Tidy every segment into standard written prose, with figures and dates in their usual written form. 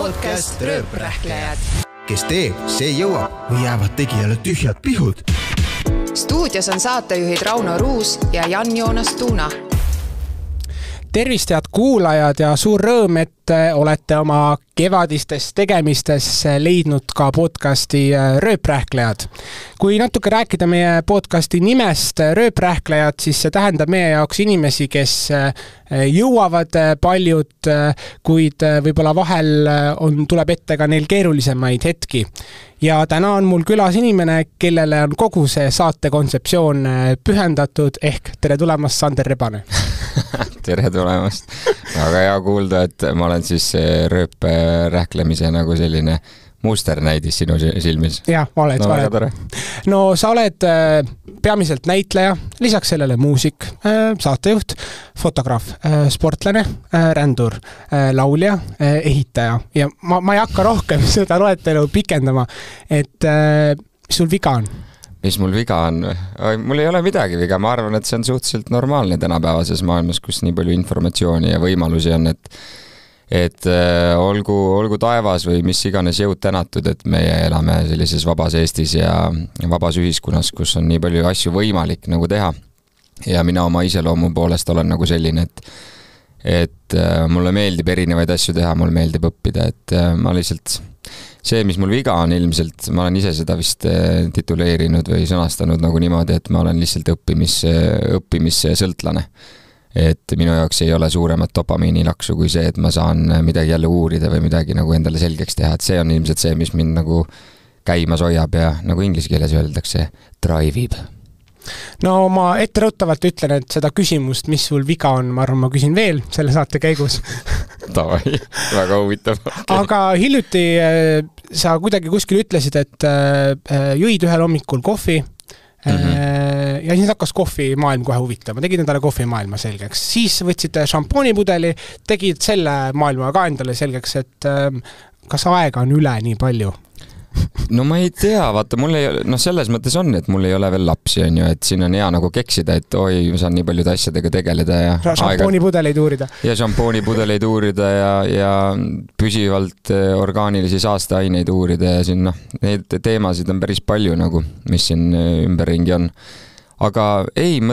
podcast Rööprähklejad. Kes teeb, see jõuab või jäävad tegijale tühjad pihud. Stuudios on saatejuhid Rauno Ruus ja Jan-Joonas Tuuna. Tervist, head kuulajad, ja suur rõõm, et olete oma kevadistes tegemistes leidnud ka podcasti Rööprähklejad. Kui natuke rääkida meie podcasti nimest Rööprähklejad, siis see tähendab meie jaoks inimesi, kes jõuavad paljud, kuid võib-olla vahel tuleb ette ka neil keerulisemaid hetki. Ja täna on mul külas inimene, kellele on kogu see saate kontseptsioon pühendatud, ehk tere tulemast, Sander Rebane. Tere tulemast. Väga hea kuulda, et ma olen siis rööprähklemise nagu selline musternäidis sinu silmis. Jah, oled. No sa oled peamiselt näitleja, lisaks sellele muusik, saatejuht, fotograaf, sportlane, rändur, laulja, ehitaja. Ja ma ei hakka rohkem seda loetelu pikendama, et mis sul viga on? Mis mul viga on? Mul ei ole midagi viga. Ma arvan, et see on suhteliselt normaalne tänapäevases maailmas, kus nii palju informatsiooni ja võimalusi on, et olgu taevas või mis iganes jõud tänatud, et meie elame sellises vabas Eestis ja vabas ühiskonnas, kus on nii palju asju võimalik nagu teha. Ja mina oma iseloomu poolest olen nagu selline, et mulle meeldib erinevaid asju teha, mulle meeldib õppida, et ma lihtsalt see, mis mul viga on ilmselt, ma olen ise seda vist tituleerinud või sõnastanud nagu niimoodi, et ma olen lihtsalt õppimissõltlane. Et minu jaoks ei ole suuremat dopamiinilaksu kui see, et ma saan midagi jälle uurida või midagi nagu endale selgeks teha. Et see on ilmselt see, mis mind nagu käimas hoiab ja nagu inglise keeles öeldakse, drive'ib. No ma etteruttavalt ütlen, et seda küsimust, mis sul viga on, ma arvan, ma küsin veel selle saate käigus. Tavai, väga huvitav. Okay. Aga hiljuti sa kuidagi kuskil ütlesid, et jõid ühel hommikul kohvi ja siis hakkas kohvimaailm kohe huvitama. Tegid endale kohvimaailma selgeks. Siis võtsid šampoonipudeli, tegid selle maailma ka endale selgeks, et kas aega on üle nii palju? No ma ei tea, vaata, selles mõttes on, et mul ei ole veel lapsi, on ju, et siin on hea nagu keksida, et oi, ma saan nii paljude asjadega tegeleda ja šampoonipudeleid uurida. Ja šampoonipudeleid uurida ja püsivalt orgaanilisi saasteaineid uurida ja siin, neid teemasid on päris palju nagu, mis siin ümberringi on. Aga ei,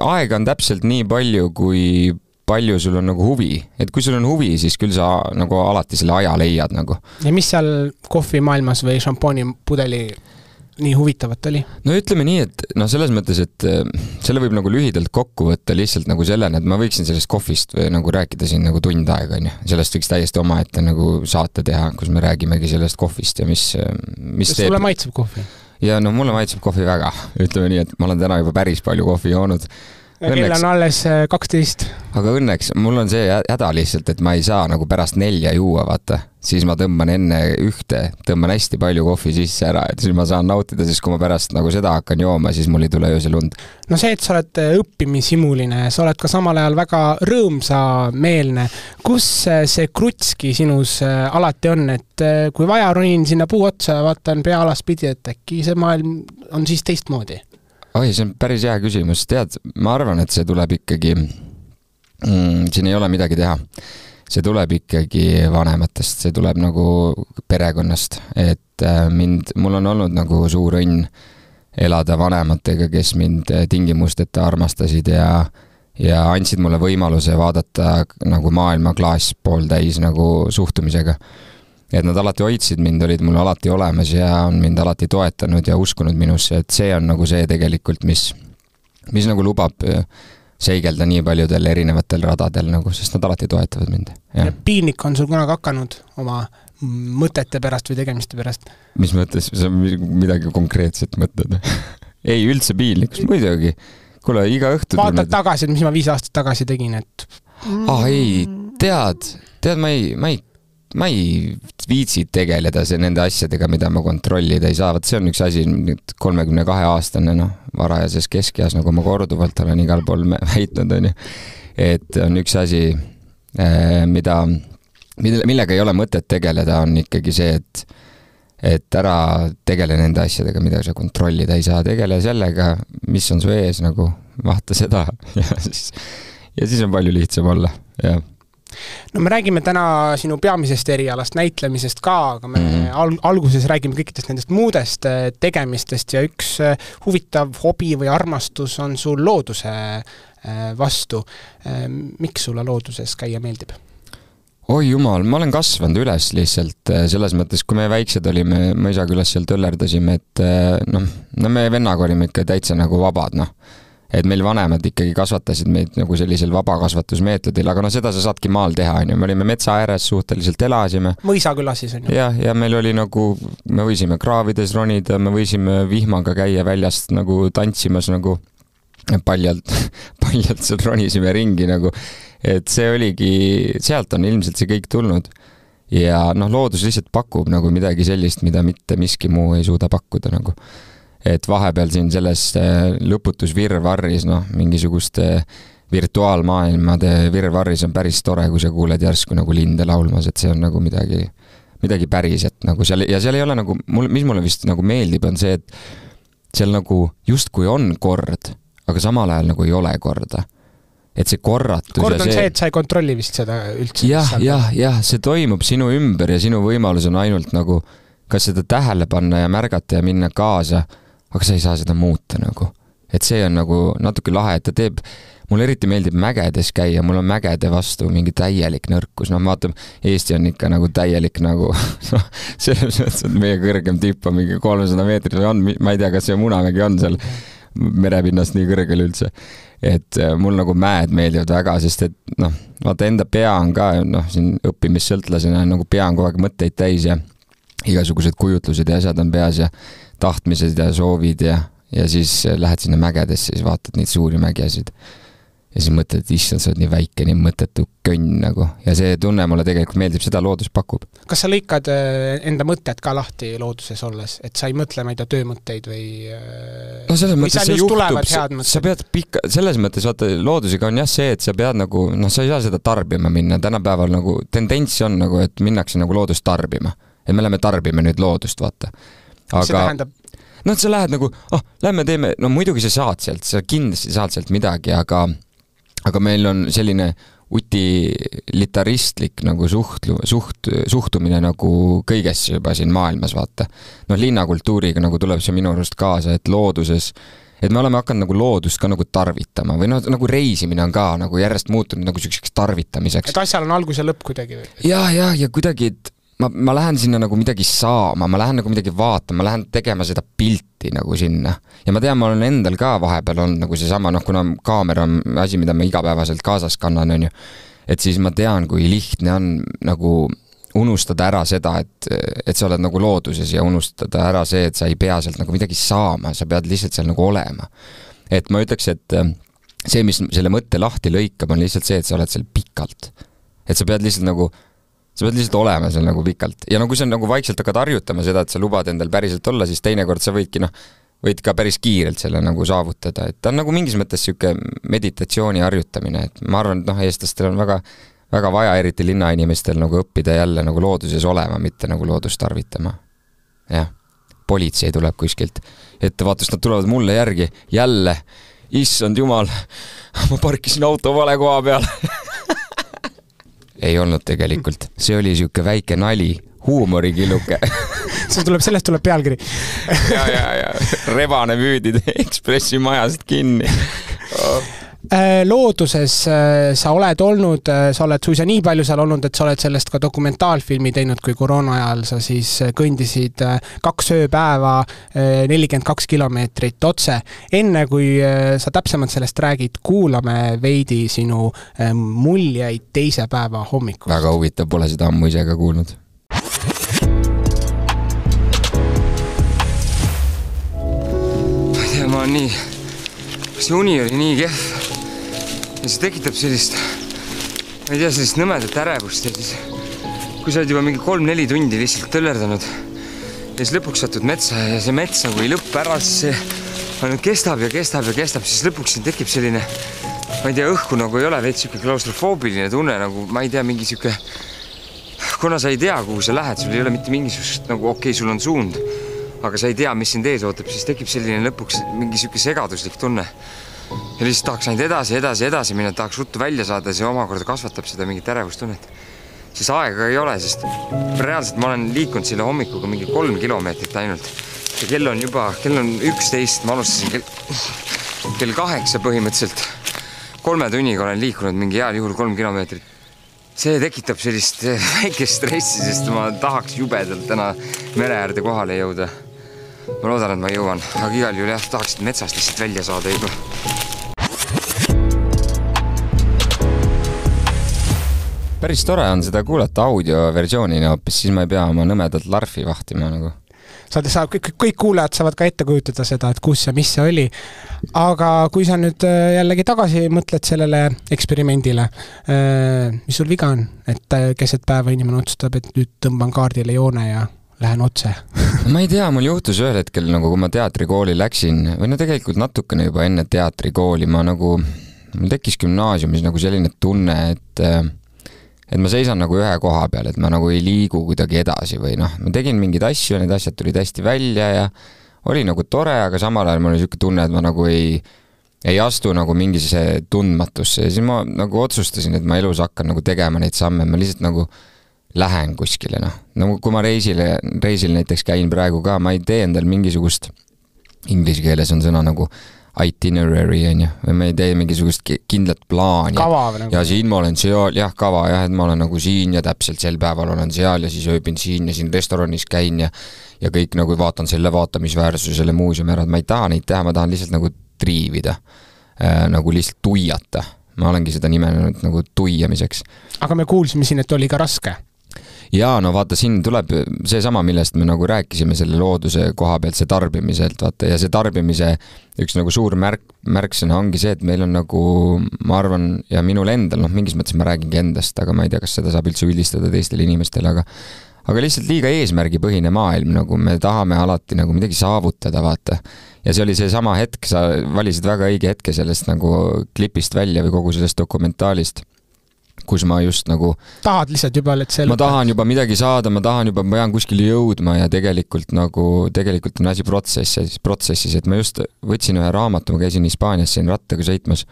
aega on täpselt nii palju, kui palju sul on nagu huvi. Et kui sul on huvi, siis küll sa nagu alati selle aja leiad nagu. Ja mis seal kohvimaailmas või šampoonipudeli nii huvitavat oli? No ütleme nii, et selles mõttes, et selle võib nagu lühidalt kokku võtta lihtsalt nagu sellena, et ma võiksin sellest kohvist või nagu rääkida siin nagu tund aega, on ju. Sellest võiks täiesti omaette nagu saate teha, kus me räägimegi sellest kohvist ja mis teeb. Sulle maitseb kohvi? Ja mulle maitseb kohvi väga. Ütleme nii, et ma olen täna juba päris palju kohvi joonud. Kell on alles 12. Aga õnneks mul on see häda lihtsalt, et ma ei saa nagu pärast 4 juua, vaata. Siis ma tõmban enne tõmban hästi palju kohvi sisse ära, et siis ma saan nautida, siis kui ma pärast nagu seda hakkan jooma, siis mul ei tule öösel und. No see, et sa oled õppimisimuline, sa oled ka samal ajal väga rõõmsameelne. Kus see krutski sinus alati on, et kui vaja ronin sinna puu otsa ja vaatan peaalas pidi, et äkki see maailm on siis teistmoodi? Oi, see on päris hea küsimus. Tead, ma arvan, et see tuleb ikkagi, siin ei ole midagi teha. See tuleb ikkagi vanematest, see tuleb nagu perekonnast, et mul on olnud nagu suur õnn elada vanematega, kes mind tingimusteta armastasid ja andsid mulle võimaluse vaadata nagu maailma klaas pooltäis nagu suhtumisega. Et nad alati hoidsid mind, olid mul alati olemas ja on mind alati toetanud ja uskunud minusse, et see on nagu see tegelikult, mis nagu lubab seigelda nii paljudel erinevatel radadel, nagu, sest nad alati toetavad mind. Ja piinlik on sul kunagi hakanud oma mõtete pärast või tegemiste pärast? Mis mõttes? Sa midagi konkreetset mõtled? Ei, üldse piinlik, muidugi. Kuule, iga õhtu vaatad tagasi, et mis ma 5 aastat tagasi tegin, et ei, tead, ma ei viitsi tegeleda nende asjadega, mida ma kontrollida ei saa. See on üks asi, 32-aastane, varajases keskeas, nagu ma korduvalt olen igal pool väitnud, on ju. Et on üks asi, millega ei ole mõtet tegeleda, on ikkagi see, et ära tegele nende asjadega, mida sa kontrollida ei saa. Tegele sellega, mis on su ees, nagu vaata seda ja siis on palju lihtsam olla, jah. No me räägime täna sinu peamisest erialast näitlemisest ka, aga me alguses räägime kõikidest nendest muudest tegemistest ja üks huvitav hobi või armastus on sul looduse vastu. Miks sulle looduses käia meeldib? Oi jumal, ma olen kasvanud üles lihtsalt selles mõttes, kui me väiksed olime, ma isaga üles seal tõllerdasime, et me vennaga olime ikka täitsa nagu vabad, et meil vanemad ikkagi kasvatasid meid nagu sellisel vabakasvatusmeetodil, aga seda sa saadki maal teha, me olime metsa ääres, suhteliselt elasime. Mõisaküla siis on ju? Ja meil oli nagu, me võisime kraavides ronida, me võisime vihmaga käia väljast nagu tantsimas nagu paljalt seal ronisime ringi nagu, et see oligi, sealt on ilmselt see kõik tulnud. Ja loodus lihtsalt pakub nagu midagi sellist, mida mitte miski muu ei suuda pakkuda nagu. Et vahepeal siin selles lõputus virvarris, mingisuguste virtuaalmaailmade virvarris on päris tore, kui sa kuuled järsku nagu linde laulmas, et see on nagu midagi päriset nagu seal, ja seal ei ole nagu, mis mulle vist nagu meeldib, on see, et seal nagu justkui on kord, aga samal ajal nagu ei ole korda. Et see korratus kord on see, et sa ei kontrolli vist seda üldse. Jah, see toimub sinu ümber ja sinu võimalus on ainult nagu kas seda tähele panna ja märgata ja minna kaasa, aga sa ei saa seda muuta nagu. Et see on nagu natuke lahe, et ta teeb, mulle eriti meeldib mägedes käia, mul on mägede vastu mingi täielik nõrkus, vaatame, Eesti on ikka nagu täielik nagu, selles mõttes, et meie kõrgem tipp on mingi 300 meetrit või on, ma ei tea, kas see Munamägi on seal merepinnast nii kõrgel üldse, et mul nagu mäed meeldivad väga, sest et vaata enda pea on ka, siin õppimissõltlasena nagu pea on kogu aeg mõtteid täis ja igasugused kujutlused ja asjad on peas ja tahtmised ja soovid ja siis lähed sinna mägedesse, siis vaatad neid suuri mägiasid ja siis mõtled, et issand, sa oled nii väike, nii mõttetu könn nagu ja see tunne mulle tegelikult meeldib, seda loodus pakub. Kas sa lõikad enda mõtted ka lahti looduses olles, et sa ei mõtle meid töömõtteid või selles mõttes see juhtub, sa pead selles mõttes vaata, loodusega on jah see, et sa pead nagu, sa ei saa seda tarbima minna, tänapäeval nagu tendents on nagu, et minnakse nagu loodust tarbima, et me lähme tarbime nüüd loodust, vaata. Aga see tähendab? Sa lähed nagu, lähme teeme, muidugi sa saad sealt, sa kindlasti saad sealt midagi, aga meil on selline utilitaristlik nagu suhtumine nagu kõigesse juba siin maailmas, vaata. Linnakultuuriga nagu tuleb see minu arust kaasa, et looduses, et me oleme hakanud nagu loodust ka nagu tarvitama või nagu reisimine on ka nagu järjest muutunud nagu selliseks tarvitamiseks. Et asjal on algus ja lõpp kuidagi või? Ja kuidagi, et ma lähen sinna nagu midagi saama, ma lähen nagu midagi vaatama, ma lähen tegema seda pilti nagu sinna. Ja ma tean, ma olen endal ka vahepeal olnud nagu seesama, kuna kaamera on asi, mida ma igapäevaselt kaasas kannan, on ju. Et siis ma tean, kui lihtne on nagu unustada ära seda, et sa oled nagu looduses ja unustada ära see, et sa ei pea sealt nagu midagi saama, sa pead lihtsalt seal nagu olema. Et ma ütleks, et see, mis selle mõtte lahti lõikab, on lihtsalt see, et sa oled seal pikalt. Et sa pead lihtsalt olema seal nagu pikalt. Ja kui sa nagu vaikselt hakkad harjutama seda, et sa lubad endal päriselt olla, siis teinekord sa võid ka päris kiirelt selle nagu saavutada. Et ta on nagu mingis mõttes siuke meditatsiooni harjutamine. Et ma arvan, et eestlastel on väga, väga vaja eriti linnainimestel nagu õppida jälle nagu looduses olema, mitte nagu loodust tarvitama. Jah, politsei tuleb kuskilt. Et vaatus, nad tulevad mulle järgi. Jälle, issand jumal, ma parkisin auto vale koha peal. Ei olnud tegelikult. See oli siuke väike nali, huumorikilluke. Sellest tuleb pealkiri. ja. Rebane müüdid Ekspressi majast kinni. Looduses sa oled olnud, sa oled suisa nii palju seal olnud, et sa oled sellest ka dokumentaalfilmi teinud, kui koroona ajal sa siis kõndisid 2 ööpäeva 42 kilomeetrit otse. Enne kui sa täpsemalt sellest räägid, kuulame veidi sinu muljeid teise päeva hommikust. Väga huvitav, pole seda ammu ise ka kuulnud. Ma on nii, see uni oli nii kehv. Ja see tekitab sellist, ma ei tea, sellist nõmedat ärevust ja siis, kui sa oled juba mingi 3-4 tundi lihtsalt tõllerdanud ja siis lõpuks satud metsa ja see mets nagu ei lõpp ära, siis see kestab, siis lõpuks siin tekib selline, ma ei tea, õhku nagu ei ole veits siuke klaustrofoobiline tunne, nagu ma ei tea, mingi siuke, kuna sa ei tea, kuhu sa lähed, sul ei ole mitte mingisugust, nagu okei, sul on suund, aga sa ei tea, mis sind ees ootab, siis tekib selline lõpuks mingi siuke segaduslik tunne. ja lihtsalt tahaks ainult edasi minna, tahaks ruttu välja saada, see omakorda kasvatab seda mingit ärevustunnet. Siis aega ei ole, sest reaalselt ma olen liikunud selle hommikuga mingi 3 kilomeetrit ainult. Ja kell on 11, ma alustasin kell 8 põhimõtteliselt. 3 tunniga olen liikunud mingi heal juhul 3 kilomeetrit. See tekitab sellist väikest stressi, sest ma tahaks jubedalt täna mere äärde kohale jõuda. Ma loodan, et ma jõuan, aga igal juhul jah, tahaks metsast lihtsalt välja saada juba. Päris tore on seda kuulata audioversioonina hoopis, siis ma ei pea oma nõmedalt larfi vahtima nagu. Kõik kuulajad saavad ka ette kujutada seda, et kus ja mis see oli. Aga kui sa nüüd jällegi tagasi mõtled sellele eksperimendile, mis sul viga on? Et keset päeva inimene otsustab, et nüüd tõmban kaardile joone ja lähen otse. Ma ei tea, mul juhtus ühel hetkel, nagu kui ma teatrikooli läksin, või no tegelikult natukene juba enne teatrikooli, mul tekkis gümnaasiumis nagu selline tunne, et ma seisan nagu ühe koha peal, et ma nagu ei liigu kuidagi edasi või noh, ma tegin mingeid asju ja need asjad tulid hästi välja ja oli nagu tore, aga samal ajal mul oli selline tunne, et ma nagu ei astu nagu mingisse tundmatusse ja siis ma nagu otsustasin, et ma elus hakkan nagu tegema neid samme, ma lihtsalt nagu lähen kuskile, noh. Nagu kui ma reisil näiteks käin praegu ka, ma ei tee endal mingisugust, inglise keeles on sõna nagu itinerary, või ma ei tee mingisugust kindlat plaani. Kava või nagu? Ja siin ma olen seal, jah, kava, jah, et ma olen nagu siin ja täpselt sel päeval olen seal ja siis ööbin siin ja siin restoranis käin ja kõik nagu vaatan selle vaatamisväärsuse, selle muuseumi ära, et ma ei taha neid teha, ma tahan lihtsalt nagu triivida, nagu lihtsalt tuiata. Ma olengi seda nimenenud nagu tuiamiseks. Aga me kuulsime siin, et oli ka raske. Jaa, no vaata, siin tuleb see sama, millest me nagu rääkisime selle looduse koha pealt, see tarbimiselt, vaata, ja see tarbimise üks nagu suur märksõna ongi see, et meil on nagu, ma arvan, ja minul endal, noh, mingis mõttes ma räägingi endast, aga ma ei tea, kas seda saab üldse üldistada teistele inimestele, aga lihtsalt liiga eesmärgipõhine maailm, nagu me tahame alati nagu midagi saavutada, vaata. Ja see oli see sama hetk, sa valisid väga õige hetke sellest nagu klipist välja või kogu sellest dokumentaalist, kus ma just nagu tahad lihtsalt juba, et see ma tahan juba midagi saada, ma pean kuskile jõudma ja tegelikult on asi protsessis, et ma just võtsin ühe raamatu, ma käisin Hispaanias siin rattaga sõitmas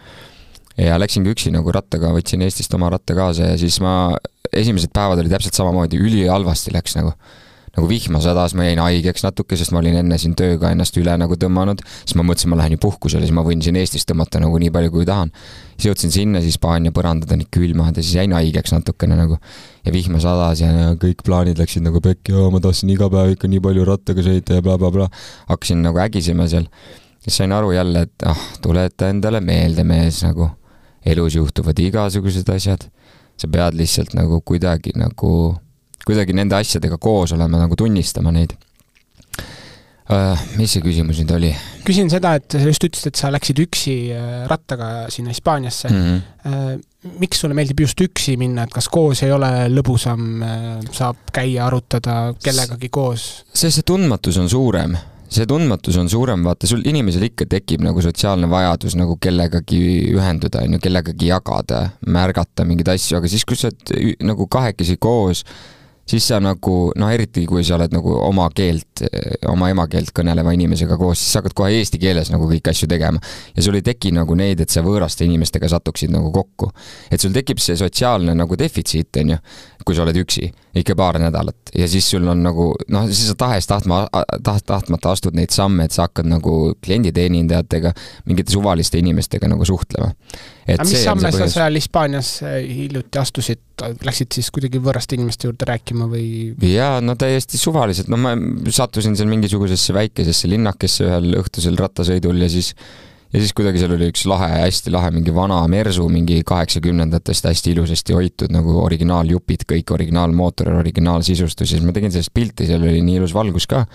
ja läksingi üksi nagu rattaga, võtsin Eestist oma ratta kaasa ja siis esimesed päevad oli täpselt samamoodi, ülihalvasti läks nagu vihma sadas, ma jäin haigeks natuke, sest ma olin enne siin tööga ennast üle nagu tõmmanud, siis ma mõtlesin, ma lähen ju puhkusele, siis ma võin siin Eestis tõmmata nagu nii palju, kui tahan. Siis jõudsin sinna, siis Hispaania põrandad on nii külmad ja siis jäin haigeks natukene nagu ja vihma sadas ja kõik plaanid läksid nagu pekki, ma tahtsin iga päev ikka nii palju rattaga sõita ja bla. Hakkasin nagu ägisema seal ja sain aru jälle, et tuleta endale meelde mees, nagu elus juhtuvad igasugused asjad. Sa pead lihtsalt nagu kuidagi nende asjadega koos olema, nagu tunnistama neid. Mis see küsimus nüüd oli? Küsin seda, et sa just ütlesid, et sa läksid üksi rattaga sinna Hispaaniasse. Miks sulle meeldib just üksi minna, et kas koos ei ole lõbusam, saab käia, arutada kellegagi koos? See tundmatus on suurem. Vaata, sul inimesel ikka tekib nagu sotsiaalne vajadus nagu kellegagi ühenduda, kellegagi jagada, märgata mingeid asju, aga siis, kui sa nagu kahekesi koos, siis sa nagu, eriti kui sa oled nagu oma emakeelt kõneleva inimesega koos, siis sa hakkad kohe eesti keeles nagu kõik asju tegema. Ja sul ei teki nagu neid, et sa võõraste inimestega satuksid nagu kokku. Et sul tekib see sotsiaalne nagu defitsiit, kui sa oled üksi, ikka paar nädalat. Ja siis sul on nagu, siis sa tahtmata astud neid samme, et sa hakkad nagu klienditeenindajatega, mingite suvaliste inimestega nagu suhtlema. Aga mis samme sa seal Hispaanias hiljuti astusid? Läksid siis kuidagi võõraste inimeste juurde rääkima või? Jaa, täiesti suvaliselt. Ma sattusin seal mingisugusesse väikesesse linnakesse ühel õhtusel rattasõidul ja siis kuidagi seal oli üks hästi lahe mingi vana Mersu, mingi 80-ndatest hästi ilusasti hoitud nagu originaaljupid, kõik originaalmootor, originaalsisustus ja siis ma tegin sellest pilti, seal oli nii ilus valgus ka.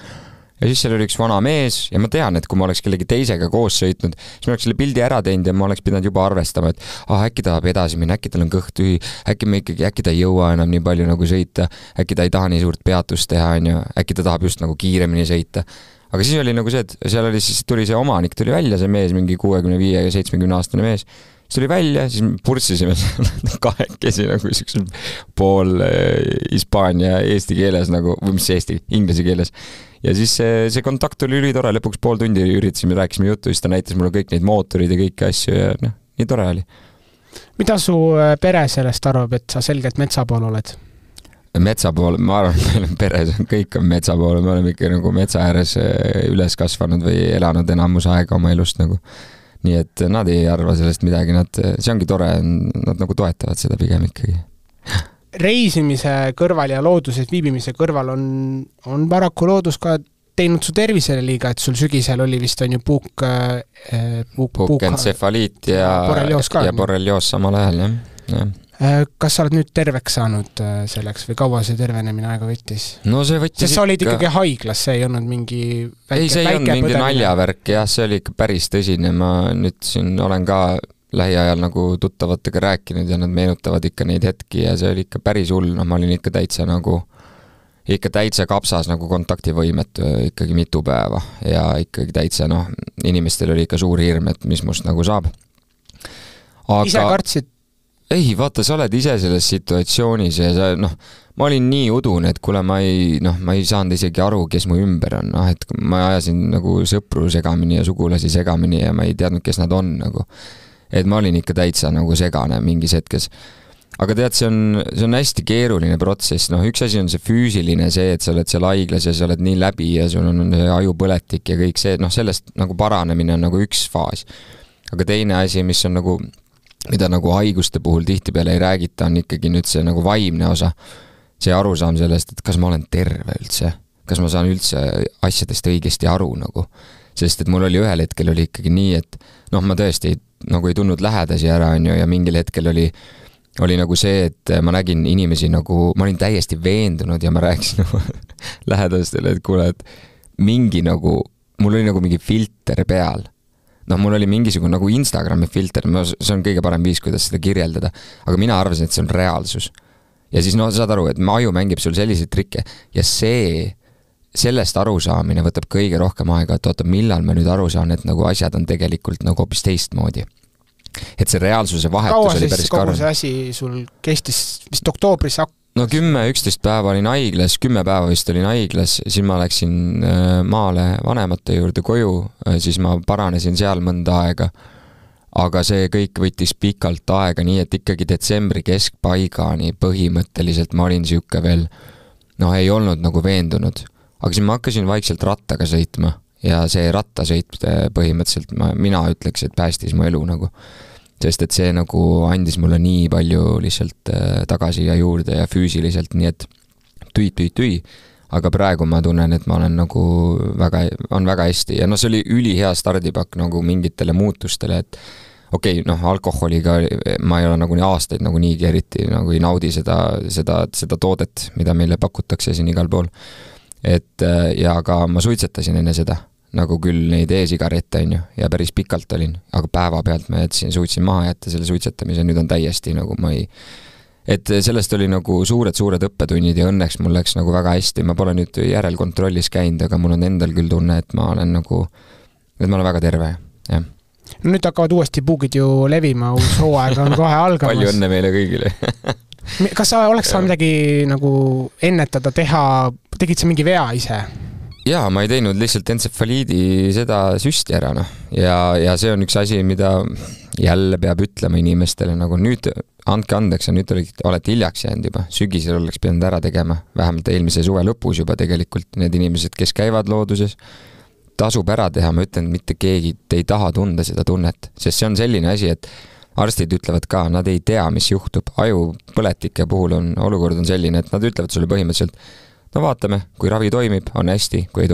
Ja siis seal oli üks vana mees ja ma tean, et kui ma oleks kellegi teisega koos sõitnud, siis ma oleks selle pildi ära teinud ja ma oleks pidanud juba arvestama, et äkki tahab edasi minna, äkki tal on kõht tühi, äkki ta ei jõua enam nii palju nagu sõita, äkki ta ei taha nii suurt peatust teha, äkki ta tahab just nagu kiiremini sõita. Aga siis oli nagu see, et seal tuli see omanik, tuli välja see mees, mingi 65 ja 70 aastane mees. siis tuli välja, siis purssisime kahekesi nagu pool hispaania eesti keeles nagu, või mis eesti, inglise keeles. Ja siis see kontakt oli ülitore, lõpuks pool tundi üritasime, rääkisime juttu, siis ta näitas mulle kõik neid mootorid ja kõiki asju ja nii tore oli. Mida su pere sellest arvab, et sa selgelt metsa pool oled? Metsa pool, ma arvan, et meil on peres, kõik on metsa pool, me oleme ikka nagu metsa ääres üles kasvanud või elanud enamus aega oma elust nagu. Nii et nad ei arva sellest midagi, see ongi tore, nad nagu toetavad seda pigem ikkagi. Reisimise kõrval ja looduses viibimise kõrval on paraku loodus ka teinud su tervisele liiga, et sul sügisel oli vist on ju puukentsefaliit ja borrelioos samal ajal, jah. Kas sa oled nüüd terveks saanud selleks või kaua see tervenemine aega võttis? No see võttis sest sa olid ikkagi haiglas, see ei olnud mingi väike see ei olnud mingi naljavärk, jah, see oli ikka päris tõsine. Ma nüüd siin olen ka lähiajal nagu tuttavatega rääkinud ja nad meenutavad ikka neid hetki ja see oli ikka päris hull, ma olin ikka täitsa kapsas nagu kontaktivõimetu ikkagi mitu päeva ja ikkagi täitsa inimestel oli ikka suur hirm, et mis must nagu saab. Aga ise kartsid? Ei, vaata, sa oled ise selles situatsioonis ja sa, ma olin nii udun, et kuule, ma ei saanud isegi aru, kes mu ümber on, et ma ajasin nagu sõpru segamini ja sugulasi segamini ja ma ei teadnud, kes nad on nagu. Et ma olin ikka täitsa nagu segane mingis hetkes. Aga tead, see on hästi keeruline protsess, üks asi on see füüsiline, see, et sa oled seal haiglas ja sa oled nii läbi ja sul on ajupõletik ja kõik see, sellest nagu paranemine on nagu üks faas. Aga teine asi, mis on nagu mida nagu haiguste puhul tihtipeale ei räägita, on ikkagi nüüd see nagu vaimne osa. See arusaam sellest, et kas ma olen terve üldse, kas ma saan üldse asjadest õigesti aru nagu. Sest et mul oli ühel hetkel oli ikkagi nii, et ma tõesti nagu ei tundnud lähedasi ära ja mingil hetkel oli nagu see, et ma nägin inimesi nagu, ma olin täiesti veendunud ja ma rääkisin lähedastele, et kuule, et mingi nagu, mul oli nagu mingi filter peal. Mul oli mingisugune nagu Instagrami filter, see on kõige parem viis, kuidas seda kirjeldada, aga mina arvasin, et see on reaalsus. Ja siis saad aru, et aju mängib sul selliseid trikke ja sellest arusaamine võtab kõige rohkem aega, et oota, millal ma nüüd aru saan, et nagu asjad on tegelikult nagu hoopis teistmoodi. Et see reaalsuse vahetus oli päris karm. Kaua see asi sul kestis vist oktoobris 10-11 päeva olin haiglas, 10 päeva vist olin haiglas, siis ma läksin maale vanemate juurde koju, siis ma paranesin seal mõnda aega. Aga see kõik võttis pikalt aega, nii et ikkagi detsembri keskpaigani põhimõtteliselt ma olin siuke veel, ei olnud nagu veendunud. Aga siis ma hakkasin vaikselt rattaga sõitma ja see rattasõit põhimõtteliselt mina ütleks, et päästis mu elu nagu. Sest et see nagu andis mulle nii palju lihtsalt tagasi ja juurde ja füüsiliselt, nii et tüi. Aga praegu ma tunnen, et ma olen nagu on väga hästi ja see oli ülihea stardipakk nagu mingitele muutustele, et okei, alkoholiga ma ei ole nagu nii aastaid nagu niigi eriti nagu ei naudi seda toodet, mida meile pakutakse siin igal pool. Ja aga ma suitsetasin enne seda. Nagu küll neid e-sigarette on ju, ja päris pikalt olin, aga päeva pealt ma suutsin maha jätta selle suitsetamise, nüüd on täiesti nagu et sellest oli nagu suured õppetunnid ja õnneks mul läks nagu väga hästi, ma pole nüüd järelkontrollis käinud, aga mul on endal küll tunne, et ma olen väga terve, jah. Nüüd hakkavad uuesti puugid ju levima, uus hooaeg on kohe algamas. Palju õnne meile kõigile. Kas sa oleks saanud midagi nagu ennetada, tegid sa mingi vea ise? Jaa, ma ei teinud lihtsalt entsefaliidi seda süsti ära, ja see on üks asi, mida jälle peab ütlema inimestele, nagu nüüd andke andeks, nüüd olete hiljaks jäänud juba, sügisel oleks pidanud ära tegema, vähemalt eelmise suve lõpus juba tegelikult need inimesed, kes käivad looduses, tasub ära teha, ma ütlen, mitte keegi ei taha tunda seda tunnet, sest see on selline asi, et arstid ütlevad ka, nad ei tea, mis juhtub, ajupõletike puhul olukord on selline, et nad ütlevad sulle põhimõtteliselt, vaatame, kui ravi toimib, on hästi, kui ei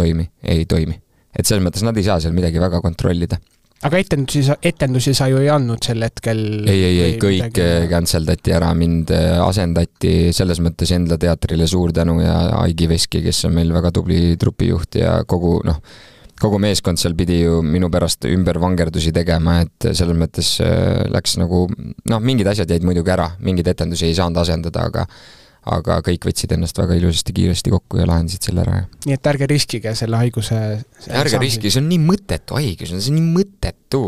toimi. Et selles mõttes nad ei saa seal midagi väga kontrollida. Aga etendusi sa ju ei andnud sel hetkel? Ei, kõik canceldati ära, mind asendati selles mõttes enda teatrile suur tänu ja Aigi Veski, kes on meil väga tubli trupijuht ja kogu meeskond seal pidi ju minu pärast ümber vangerdusi tegema, et selles mõttes läks nagu, mingid asjad jäid muidugi ära, mingid etendusi ei saanud asendada, aga kõik võtsid ennast väga ilusasti kiiresti kokku ja lahendasid selle ära. Nii et ärge riskige selle haiguse ärge riski, see on nii mõttetu haigus, see on nii mõttetu,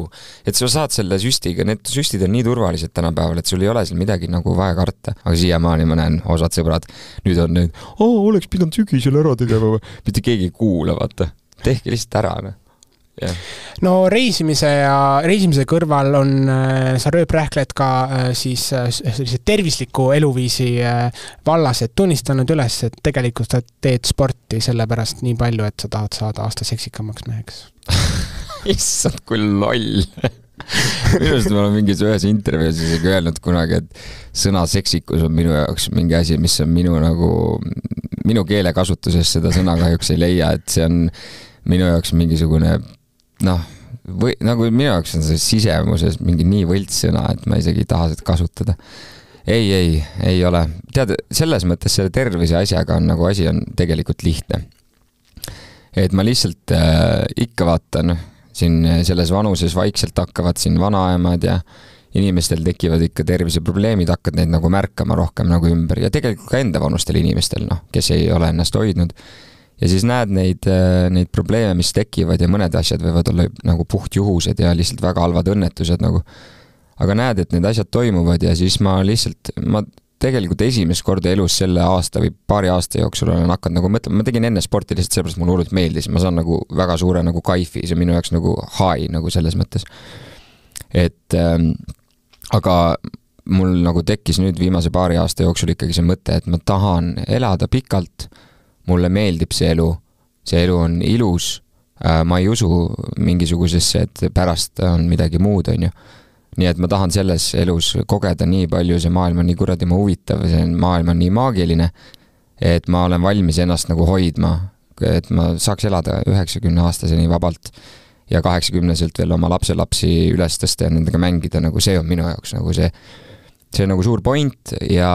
et sa saad selle süstiga, need süstid on nii turvalised tänapäeval, et sul ei ole seal midagi nagu vaja karta, aga siiamaani ma näen osad sõbrad, nüüd on need, oleks pidanud sügisel ära tegema, mitte keegi ei kuula, vaata, tehke lihtsalt ära, Yeah. No reisimise kõrval on sa rööprähkled ka siis sellise tervisliku eluviisi vallas, et tunnistanud üles, et tegelikult sa teed sporti sellepärast nii palju, et sa tahad saada aasta seksikamaks meheks. Issand, kui loll. Minust ma olen mingis ühes intervjuus isegi öelnud kunagi, et sõna seksikus on minu jaoks mingi asi, mis on minu keelekasutuses seda sõna kahjuks ei leia, et see on minu jaoks mingisugune nagu minu jaoks on see sisemuses mingi nii võltssõna, et ma isegi ei taha seda kasutada. Ei ole. Tead, selles mõttes selle tervise asjaga on nagu asi on tegelikult lihtne. Et ma lihtsalt ikka vaatan, siin selles vanuses vaikselt hakkavad siin vanaemad ja inimestel tekivad ikka terviseprobleemid, hakkad neid nagu märkama rohkem nagu ümber ja tegelikult ka enda vanustel inimestel, kes ei ole ennast hoidnud. Ja siis näed neid probleeme, mis tekivad ja mõned asjad võivad olla nagu puhtjuhused ja lihtsalt väga halvad õnnetused nagu. Aga näed, et need asjad toimuvad ja siis ma tegelikult esimest korda elus selle aasta või paari aasta jooksul olen hakanud nagu mõtlema, ma tegin enne sporti lihtsalt sellepärast mulle hullult meeldis, ma saan nagu väga suure nagu kaifi, see minu jaoks nagu high nagu selles mõttes. Et aga mul nagu tekkis nüüd viimase paari aasta jooksul ikkagi see mõte, et ma tahan elada pikalt, mulle meeldib see elu on ilus, ma ei usu mingisugusesse, et pärast on midagi muud, on ju. Nii et ma tahan selles elus kogeda nii palju, see maailm on nii kuradi ma huvitav, see maailm on nii maagiline, et ma olen valmis ennast nagu hoidma, et ma saaks elada 90-aastaseni vabalt ja 80-selt veel oma lapselapsi üles tõsta ja nendega mängida, nagu see on minu jaoks nagu see on nagu suur point ja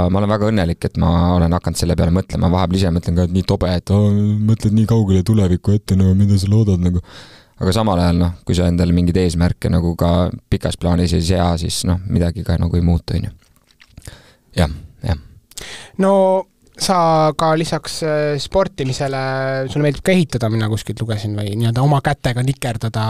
ma olen väga õnnelik, et ma olen hakanud selle peale mõtlema, vahepeal ise mõtlen ka, et nii tobe, et mõtled nii kaugele tulevikku ette, mida sa loodad nagu. Aga samal ajal, kui sa endale mingid eesmärke nagu ka pikas plaanis ei sea, siis midagi ka nagu ei muutu, on ju. Jah. No sa ka lisaks sportimisele, sulle meeldib ka ehitada, mina kuskilt lugesin või nii-öelda oma kätega nikerdada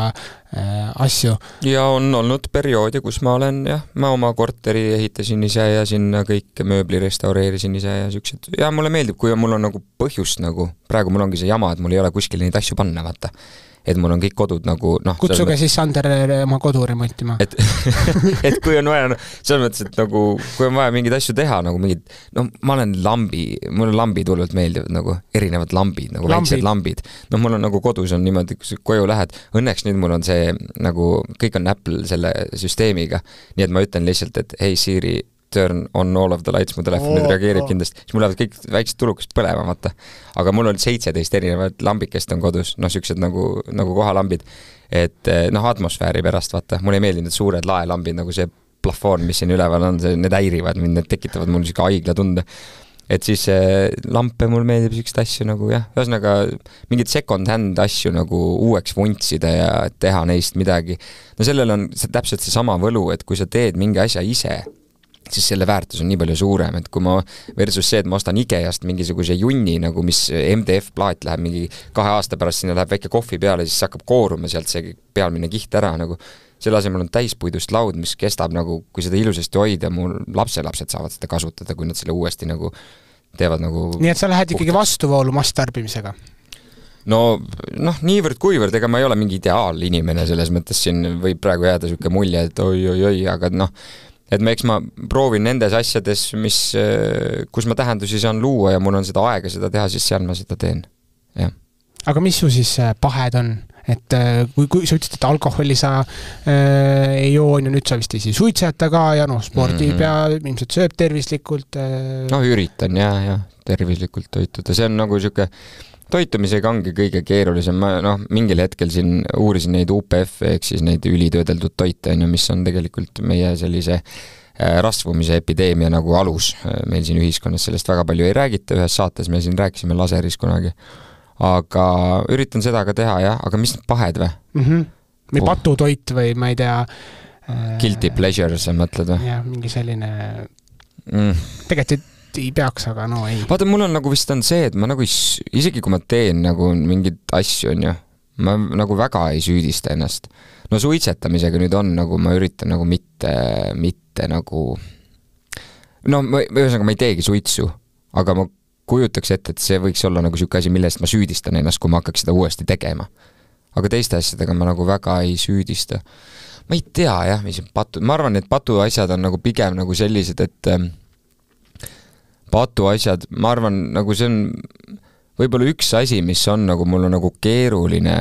asju. Ja on olnud perioodi, kus ma olen, ma oma korteri ehitasin ise ja sinna kõik mööbli restaureerisin ise ja siuksed. Ja mulle meeldib, kui mul on nagu põhjust nagu, praegu mul ongi see jama, et mul ei ole kuskil neid asju panna, vaata. Et mul on kõik kodud nagu kutsuge siis Sander oma kodu remontima. Et kui on vaja, selles mõttes, et nagu kui on vaja mingeid asju teha, nagu mingid, ma olen mulle lambid hullult meeldivad, nagu erinevad lambid, nagu väiksed lambid. Mul on nagu kodus on niimoodi, kui koju lähed, õnneks nüüd mul on see, nagu kõik on Apple selle süsteemiga, nii et ma ütlen lihtsalt, et hey Siri, turn on all of the lights, mu telefon nüüd reageerib kindlasti, siis mul lähevad kõik väiksed tulukast põlema, vaata. Aga mul on 17 erinevad lambikest on kodus, siuksed nagu kohalambid, et atmosfääri pärast, vaata, mulle ei meeldi need suured laelambid, nagu see plafoon, mis siin üleval on, need häirivad mind, need tekitavad mul siuke haigla tunde. Et siis lampe mul meeldib siukest asju nagu, ühesõnaga mingid second hand asju nagu uueks vuntsida ja teha neist midagi. Sellel on täpselt see sama võlu, et kui sa teed mingi asja ise, siis selle väärtus on nii palju suurem, et kui ma versus see, et ma ostan Ikeast mingisuguse junni, nagu mis MDF-plaat läheb mingi 2 aasta pärast, sinna läheb väike kohvi peale, siis hakkab kooruma sealt see pealmine kiht ära, nagu selle asemel on täispuidust laud, mis kestab nagu, kui seda ilusasti hoida, mu lapselapsed saavad seda kasutada, kui nad selle uuesti nagu teevad nagu nii et sa lähed ikkagi vastuvoolu masstarbimisega? Niivõrd kuivõrd, ega ma ei ole mingi ideaalinimene, selles mõttes siin võib praegu jääda siuke mulje, et oi, aga et eks ma proovin nendes asjades, kus ma tähendusi saan luua ja mul on seda aega seda teha, siis seal ma seda teen. Ja. Aga mis su siis pahed on? Et kui sa ütlesid, et alkoholi sa ei joo, ja nüüd sa vist ei suitseta ka ja spordi pea ilmselt sööb tervislikult. Üritan ja tervislikult toituda. See on nagu siuke toitumisega ongi kõige keerulisem. Ma mingil hetkel siin uurisin neid UPF ehk siis neid ülitöödeldud toite, mis on tegelikult meie sellise rasvumise epideemia nagu alus. Meil siin ühiskonnas sellest väga palju ei räägita, ühes saates me siin rääkisime laseris kunagi. Aga üritan seda ka teha, aga mis need pahed või? Või patutoit või ma ei tea Guilty pleasure, sa mõtled või? Jah, mingi selline tegelikult ei peaks, aga no ei. Vaata, mul on nagu vist on see, et ma nagu isegi kui ma teen nagu mingid asju, on ju, ma nagu väga ei süüdista ennast. No suitsetamisega nüüd on nagu, ma üritan nagu mitte nagu, no ühesõnaga ma ei teegi suitsu, aga ma kujutaks ette, et see võiks olla nagu siuke asi, millest ma süüdistan ennast, kui ma hakkaks seda uuesti tegema. Aga teiste asjadega ma nagu väga ei süüdista. Ma ei tea jah, mis on ma arvan, et patu asjad on nagu pigem nagu sellised, et patu asjad, ma arvan, nagu see on võib-olla üks asi, mis on nagu mul on nagu keeruline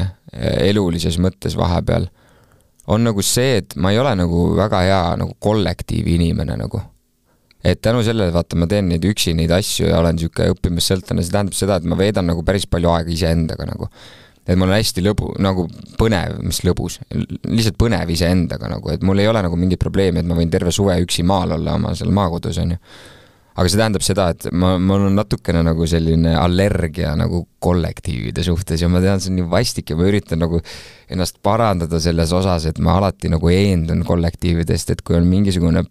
elulises mõttes vahepeal, on nagu see, et ma ei ole nagu väga hea nagu kollektiivi inimene nagu. Et tänu sellele, vaata, ma teen neid üksi neid asju ja olen siuke õppimas sõltane, see tähendab seda, et ma veedan nagu päris palju aega iseendaga nagu. Et mul on hästi nagu põnev, mis lõbus, lihtsalt põnev iseendaga nagu, et mul ei ole nagu mingit probleemi, et ma võin terve suve üksi maal olla oma seal maakodus, on ju. Aga see tähendab seda, et mul on natukene nagu selline allergia nagu kollektiivide suhtes ja ma tean, see on nii vastik ja ma üritan nagu ennast parandada selles osas, et ma alati nagu eendun kollektiividest, et kui on mingisugune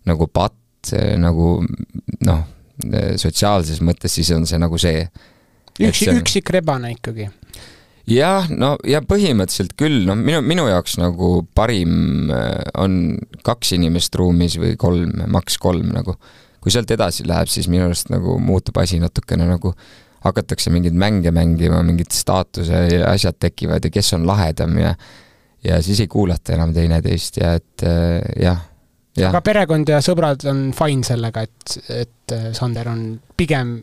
nagu patt nagu noh, sotsiaalses mõttes, siis on see nagu see. Üksik rebane ikkagi. Jah, no ja põhimõtteliselt küll, no minu jaoks nagu parim on 2 inimest ruumis või 3, maks 3 nagu. Kui sealt edasi läheb, siis minu arust nagu muutub asi natukene nagu hakatakse mingid mänge mängima, mingid staatuse ja asjad tekivad ja kes on lahedam ja siis ei kuulata enam teineteist ja et jah. Ja. Aga perekond ja sõbrad on fine sellega, et Sander on pigem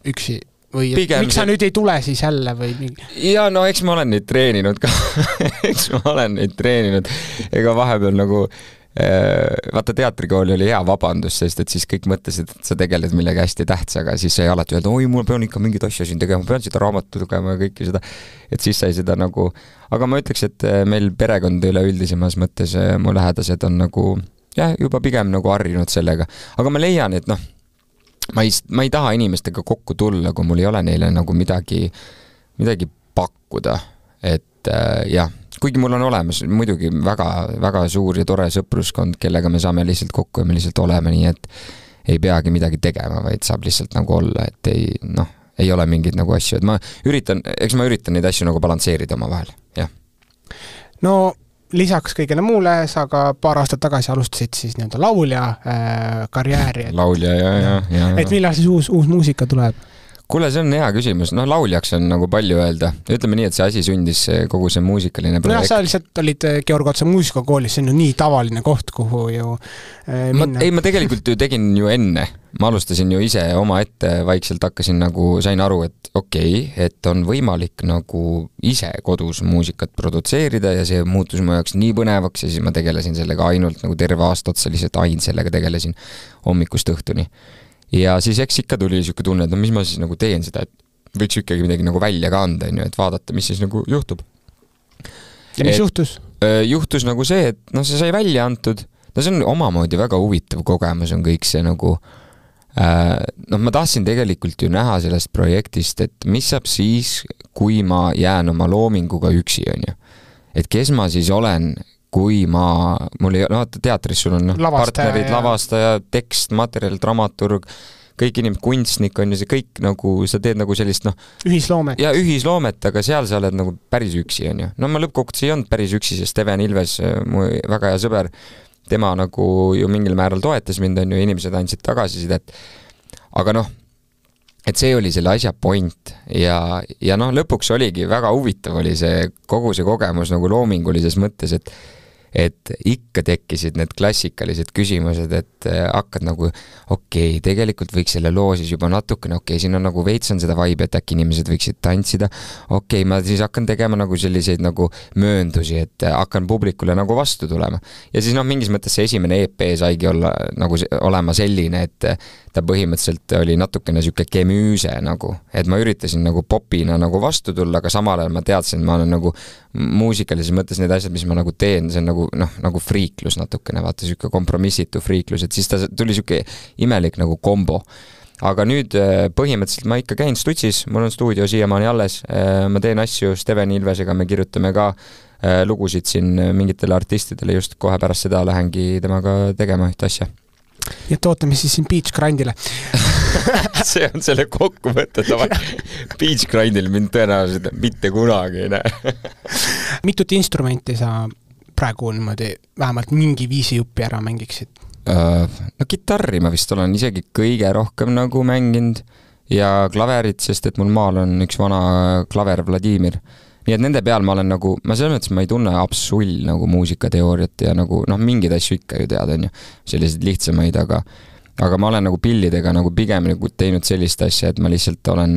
üksi või miks sa nüüd ei tule siis jälle või mingi? Ja no eks ma olen neid treeninud ka ega vahepeal nagu vaata teatrikooli oli hea vabandus, sest et siis kõik mõtlesid, et sa tegeled millegi hästi tähtsaga, siis sai alati öelda, oi, mul pean ikka mingid asja siin tegema, pean seda raamatu lugema ja kõike seda, et siis sai seda nagu, aga ma ütleks, et meil perekond üleüldisemas mõttes mu lähedased on nagu jah, juba pigem nagu harjunud sellega, aga ma leian, et noh, ma ei taha inimestega kokku tulla, kui mul ei ole neile nagu midagi pakkuda, et jah, kuigi mul on olemas muidugi väga, väga suur ja tore sõpruskond, kellega me saame lihtsalt kokku ja me lihtsalt oleme nii, et ei peagi midagi tegema, vaid saab lihtsalt nagu olla, et ei ole mingid nagu asju, et ma üritan neid asju nagu balansseerida oma vahel, jah. No lisaks kõigele muule, sa ka paar aastat tagasi alustasid siis nii-öelda laulja karjääri. Laulja, ja. Et millal siis uus muusika tuleb? Kuule, see on hea küsimus. No lauljaks on nagu palju öelda. Ütleme nii, et see asi sündis kogu see muusikaline projekt. No sa lihtsalt olid Georg Otsa muusikakoolis, see on ju nii tavaline koht, kuhu ju minna. Ma tegelikult ju tegin ju enne. Ma alustasin ju ise oma ette, vaikselt hakkasin nagu, sain aru, et okei, et on võimalik nagu ise kodus muusikat produtseerida ja see muutus mu jaoks nii põnevaks ja siis ma tegelesin sellega ainult nagu terve aasta otsa, lihtsalt ainult sellega tegelesin hommikust õhtuni. Ja siis eks ikka tuli siuke tunne, et no mis ma siis nagu teen seda, et võiks ikkagi midagi nagu välja ka anda, et vaadata, mis siis nagu juhtub. Ja mis juhtus? Juhtus nagu see, et no see sai välja antud, no see on omamoodi väga huvitav kogemus on kõik see nagu ma tahtsin tegelikult ju näha sellest projektist, et mis saab siis, kui ma jään oma loominguga üksi, on ju. Et kes ma siis olen, kui mul ei, teatris sul on partnerid, lavastaja, tekst, materjal, dramaturg, kõik inimesed, kunstnik on ju see kõik nagu, sa teed nagu sellist ühisloomet. Ja ühisloomet, aga seal sa oled nagu päris üksi, on ju. No ma lõppkokkuvõttes ei olnud päris üksi, sest Steven Ilves, mu väga hea sõber, tema nagu ju mingil määral toetas mind, on ju, inimesed andsid tagasisidet. Aga et see oli selle asja point ja lõpuks oligi väga huvitav oli see kogu see kogemus nagu loomingulises mõttes, et ikka tekkisid need klassikalised küsimused, et hakkad nagu okei, tegelikult võiks selle loo siis juba natukene, siin on nagu veits on seda vibe, et äkki inimesed võiksid tantsida, ma siis hakkan tegema nagu selliseid nagu mööndusi, et hakkan publikule nagu vastu tulema. Ja siis mingis mõttes see esimene EP saigi olla nagu olema selline, et ta põhimõtteliselt oli natukene siuke kemüüse nagu, et ma üritasin nagu popina nagu vastu tulla, aga samal ajal ma teadsin, ma olen nagu muusikalises mõttes need asjad, mis ma nagu teen, see on nagu friiklus natukene, vaata siuke kompromissitu friiklus, et siis ta tuli siuke imelik nagu kombo. Aga nüüd põhimõtteliselt ma ikka käin Stutsis, mul on stuudio siiamaani alles, ma teen asju Steven Ilvesega, me kirjutame ka lugusid siin mingitele artistidele, just kohe pärast seda lähengi temaga tegema ühte asja. ja ootame siis siin Beach Grindile. See on selle kokkuvõte. Beach Grindil mind tõenäoliselt mitte kunagi ei näe. Mitut instrumenti sa praegu niimoodi vähemalt mingi viisi jupi ära mängiksid? No kitarri ma vist olen isegi kõige rohkem nagu mänginud ja klaverit, sest et mul maal on üks vana klaver Vladimir. Nii et nende peal ma olen nagu, ma selles mõttes ma ei tunne absolull nagu muusikateooriat ja nagu mingid asju ikka ju tead, on ju, sellised lihtsamaid, aga ma olen nagu pillidega nagu pigem nagu teinud sellist asja, et ma lihtsalt olen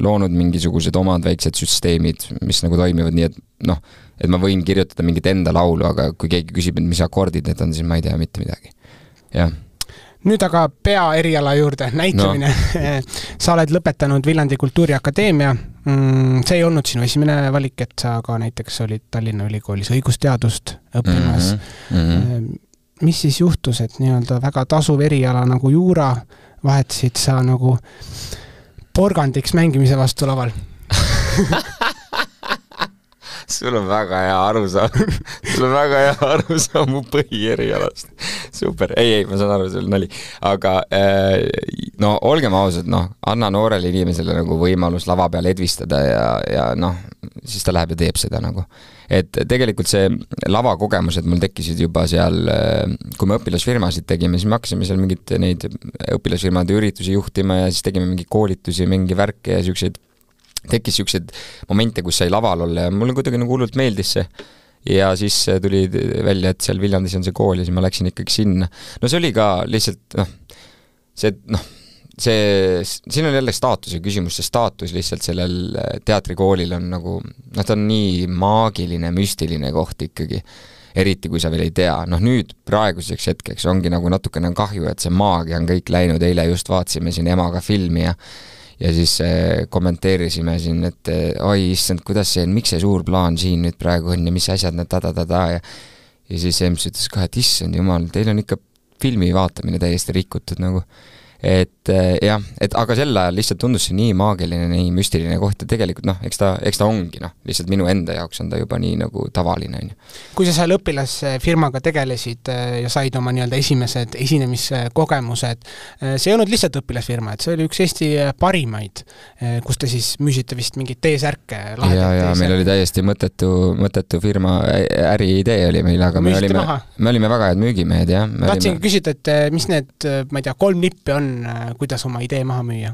loonud mingisugused omad väiksed süsteemid, mis nagu toimivad nii, et et ma võin kirjutada mingit enda laulu, aga kui keegi küsib, et mis akordid need on, siis ma ei tea mitte midagi. Jah. Nüüd aga peaeriala juurde, näitlemine. No. Sa oled lõpetanud Viljandi Kultuuriakadeemia. See ei olnud sinu esimene valik, et sa ka näiteks olid Tallinna Ülikoolis õigusteadust õppimas. Mis siis juhtus, et nii-öelda väga tasuv eriala nagu juura vahetasid sa nagu porgandiks mängimise vastu laval? Sul on väga hea arusaam mu põhierialast. Super. Ei, ma saan aru, see oli nali. Aga olgem ausad, anna noorele inimesele nagu võimalus lava peal edvistada ja siis ta läheb ja teeb seda nagu. Et tegelikult see lavakogemused mul tekkisid juba seal, kui me õpilasfirmasid tegime, siis me hakkasime seal mingit neid õpilasfirmade üritusi juhtima ja siis tegime mingi koolitusi, mingi värke ja tekkis siuksed momente, kus sai laval olla ja mulle kuidagi nagu hullult meeldis see. Ja siis tuli välja, et seal Viljandis on see kool ja siis ma läksin ikkagi sinna. No see oli ka lihtsalt, siin on jälle staatuse küsimus, see staatus lihtsalt sellel teatrikoolil on nagu, ta on nii maagiline, müstiline koht ikkagi, eriti kui sa veel ei tea. Nüüd praeguseks hetkeks ongi nagu natukene kahju, et see maagia on kõik läinud, eile just vaatsime siin emaga filmi ja siis kommenteerisime siin, et oi, issand, kuidas see on, miks see suur plaan siin nüüd praegu on ja mis asjad need ja siis Ems ütles ka, et issand jumal, teil on ikka filmi vaatamine täiesti rikutud nagu. Et jah, aga sel ajal lihtsalt tundus see nii maagiline, nii müstiline koht ja tegelikult eks ta ongi, lihtsalt minu enda jaoks on ta juba nii nagu tavaline. Kui sa seal õpilasfirmaga tegelesid ja said oma nii-öelda esimesed esinemiskogemused, see ei olnud lihtsalt õpilasfirma, et see oli üks Eesti parimaid, kus te siis müüsite vist mingit teesärke. Ja meil oli täiesti mõttetu firma, äriidee oli meil, aga me olime väga head müügimehed, jah. Tahtsin küsida, et mis need, ma ei tea, 3 nippi on, kuidas oma idee maha müüa?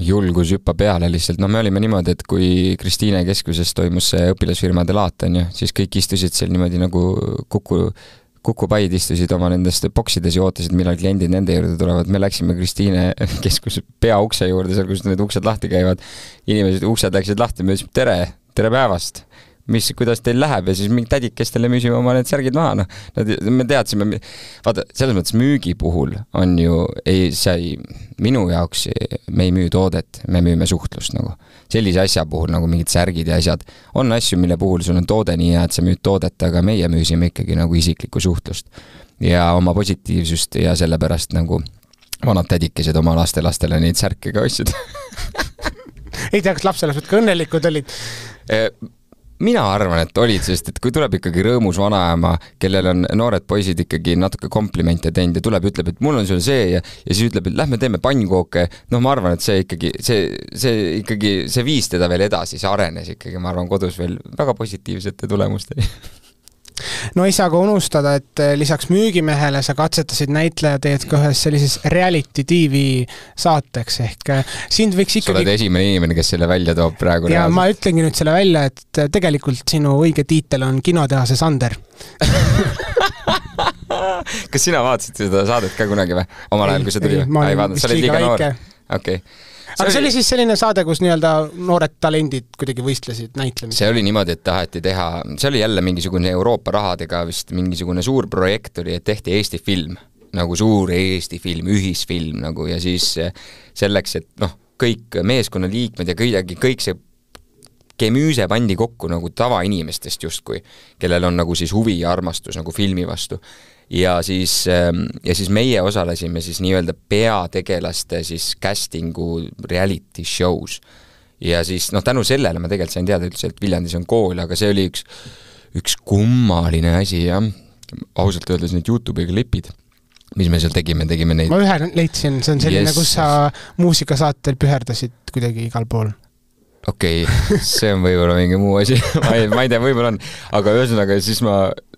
Julgus hüppa peale lihtsalt. Me olime niimoodi, et kui Kristiine keskuses toimus see õpilasfirmade laat, siis kõik istusid seal niimoodi nagu kukupaid istusid oma nendest boksides ja ootasid, millal kliendid nende juurde tulevad. Me läksime Kristiine keskuse peaukse juurde, seal kus need uksed lahti käivad. Inimesed uksed läksid lahti, me ütlesid tere päevast. Kuidas teil läheb ja siis mingi tädikestele müüsime oma need särgid maha. Me teadsime, vaata, selles mõttes müügi puhul on ju, minu jaoks me ei müü toodet, me müüme suhtlust nagu. Sellise asja puhul nagu mingid särgid ja asjad. On asju, mille puhul sul on toode nii hea, et sa müüd toodet, aga meie müüsime ikkagi nagu isiklikku suhtlust ja oma positiivsust ja sellepärast nagu vanad tädikesed oma lastele neid särke ka ostsid. Ei tea, kas lapselased ka õnnelikud olid? Mina arvan, et olid, sest et kui tuleb ikkagi rõõmus vanaema, kellel on noored poisid ikkagi natuke komplimente teinud ja tuleb, ütleb, et mul on sul see ja siis ütleb, et lähme teeme pannkooke. Ma arvan, et see viis teda veel edasi, see arenes ikkagi, ma arvan, kodus veel väga positiivsete tulemusteni. No ei saa ka unustada, et lisaks müügimehele sa katsetasid näitleja teed ka ühes sellises reality TV saateks ehk sind võiks ikkagi... Sa oled esimene inimene, kes selle välja toob praegu. Ja reaalselt. Ma ütlengi nüüd selle välja, et tegelikult sinu õige tiitel on kinotehase Sander. Kas sina vaatasid seda saadet ka kunagi või? Omal ajal, kui see tuli? Ma olin vist liiga väike. Okei. Aga see oli siis selline saade, kus nii-öelda noored talendid kuidagi võistlesid näitlemist. See oli niimoodi, et taheti teha, see oli jälle mingisugune Euroopa rahadega vist mingisugune suur projekt oli, et tehti Eesti film, nagu suur Eesti film, ühisfilm nagu ja siis selleks, et kõik meeskonnaliikmed ja kõik see kemüüse pandi kokku nagu tavainimestest justkui, kellel on nagu siis huvi ja armastus nagu filmi vastu. Ja siis meie osalesime siis nii-öelda peategelaste siis castingu reality shows. Ja siis tänu sellele ma tegelikult sain teada üldse, et Viljandis on kool, aga see oli üks kummaline asi, jah. Ausalt öeldes need YouTube'iga klipid. mis me seal tegime neid. Ma ühe leidsin, see on selline, kus sa muusikasaatel püherdasid kuidagi igal pool. Okei, see on võib-olla mingi muu asi. ma ei tea, võib-olla on. Aga ühesõnaga, siis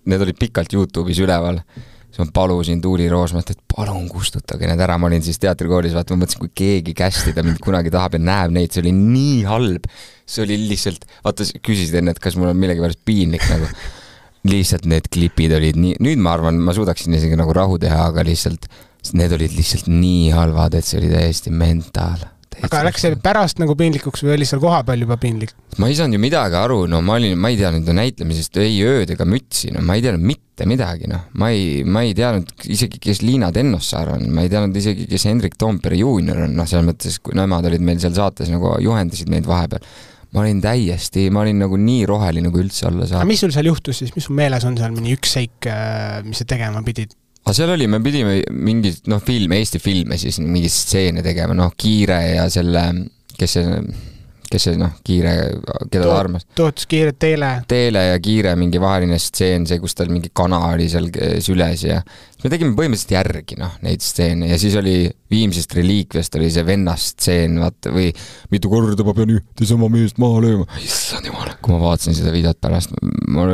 need olid pikalt YouTube'is üleval. Siis ma palusin Tuuli Roosmalt, et palun kustutage need ära. Ma olin siis teatrikoolis, vaata, ma mõtlesin, kui keegi kästida mind kunagi tahab ja näeb neid, see oli nii halb. See oli lihtsalt, vaata, küsisid enne, et kas mul on millegi pärast piinlik nagu. Lihtsalt need klipid olid nii, nüüd ma arvan, ma suudaksin isegi nagu rahu teha, aga lihtsalt need olid lihtsalt nii halvad, et see oli täiesti mentaal. Aga läks see pärast nagu piinlikuks või oli seal koha peal juba piinlik? Ma ei saanud ju midagi aru, no ma ei teadnud näitlemisest ei ööd ega mütsi, no ma ei teadnud mitte midagi, no ma ei teadnud isegi, kes Liina Tennossaar on, ma ei teadnud isegi, kes Hendrik Toompere juunior on, noh seal mõttes, kui nemad olid meil seal saates nagu juhendasid meid vahepeal. Ma olin nagu nii roheline, kui üldse olla saab. Aga mis sul seal juhtus siis? Mis sul meeles on seal mõni üks seik, mis sa tegema pidid? Aga seal oli, me pidime mingi, Eesti filme siis mingi stseene tegema, Kiire ja selle, kes see, Kiire, keda ta armas. Tootus Kiire, Teele ja Kiire mingi vaheline stseen, see, kus tal mingi kana oli seal süles ja me tegime põhimõtteliselt järgi, neid stseene ja siis oli Viimsest reliikviast oli see vennast stseen, vaata, või mitu korda ma pean ühte sama meest maha lööma. Issand jumal, kui ma vaatasin seda videot pärast, ma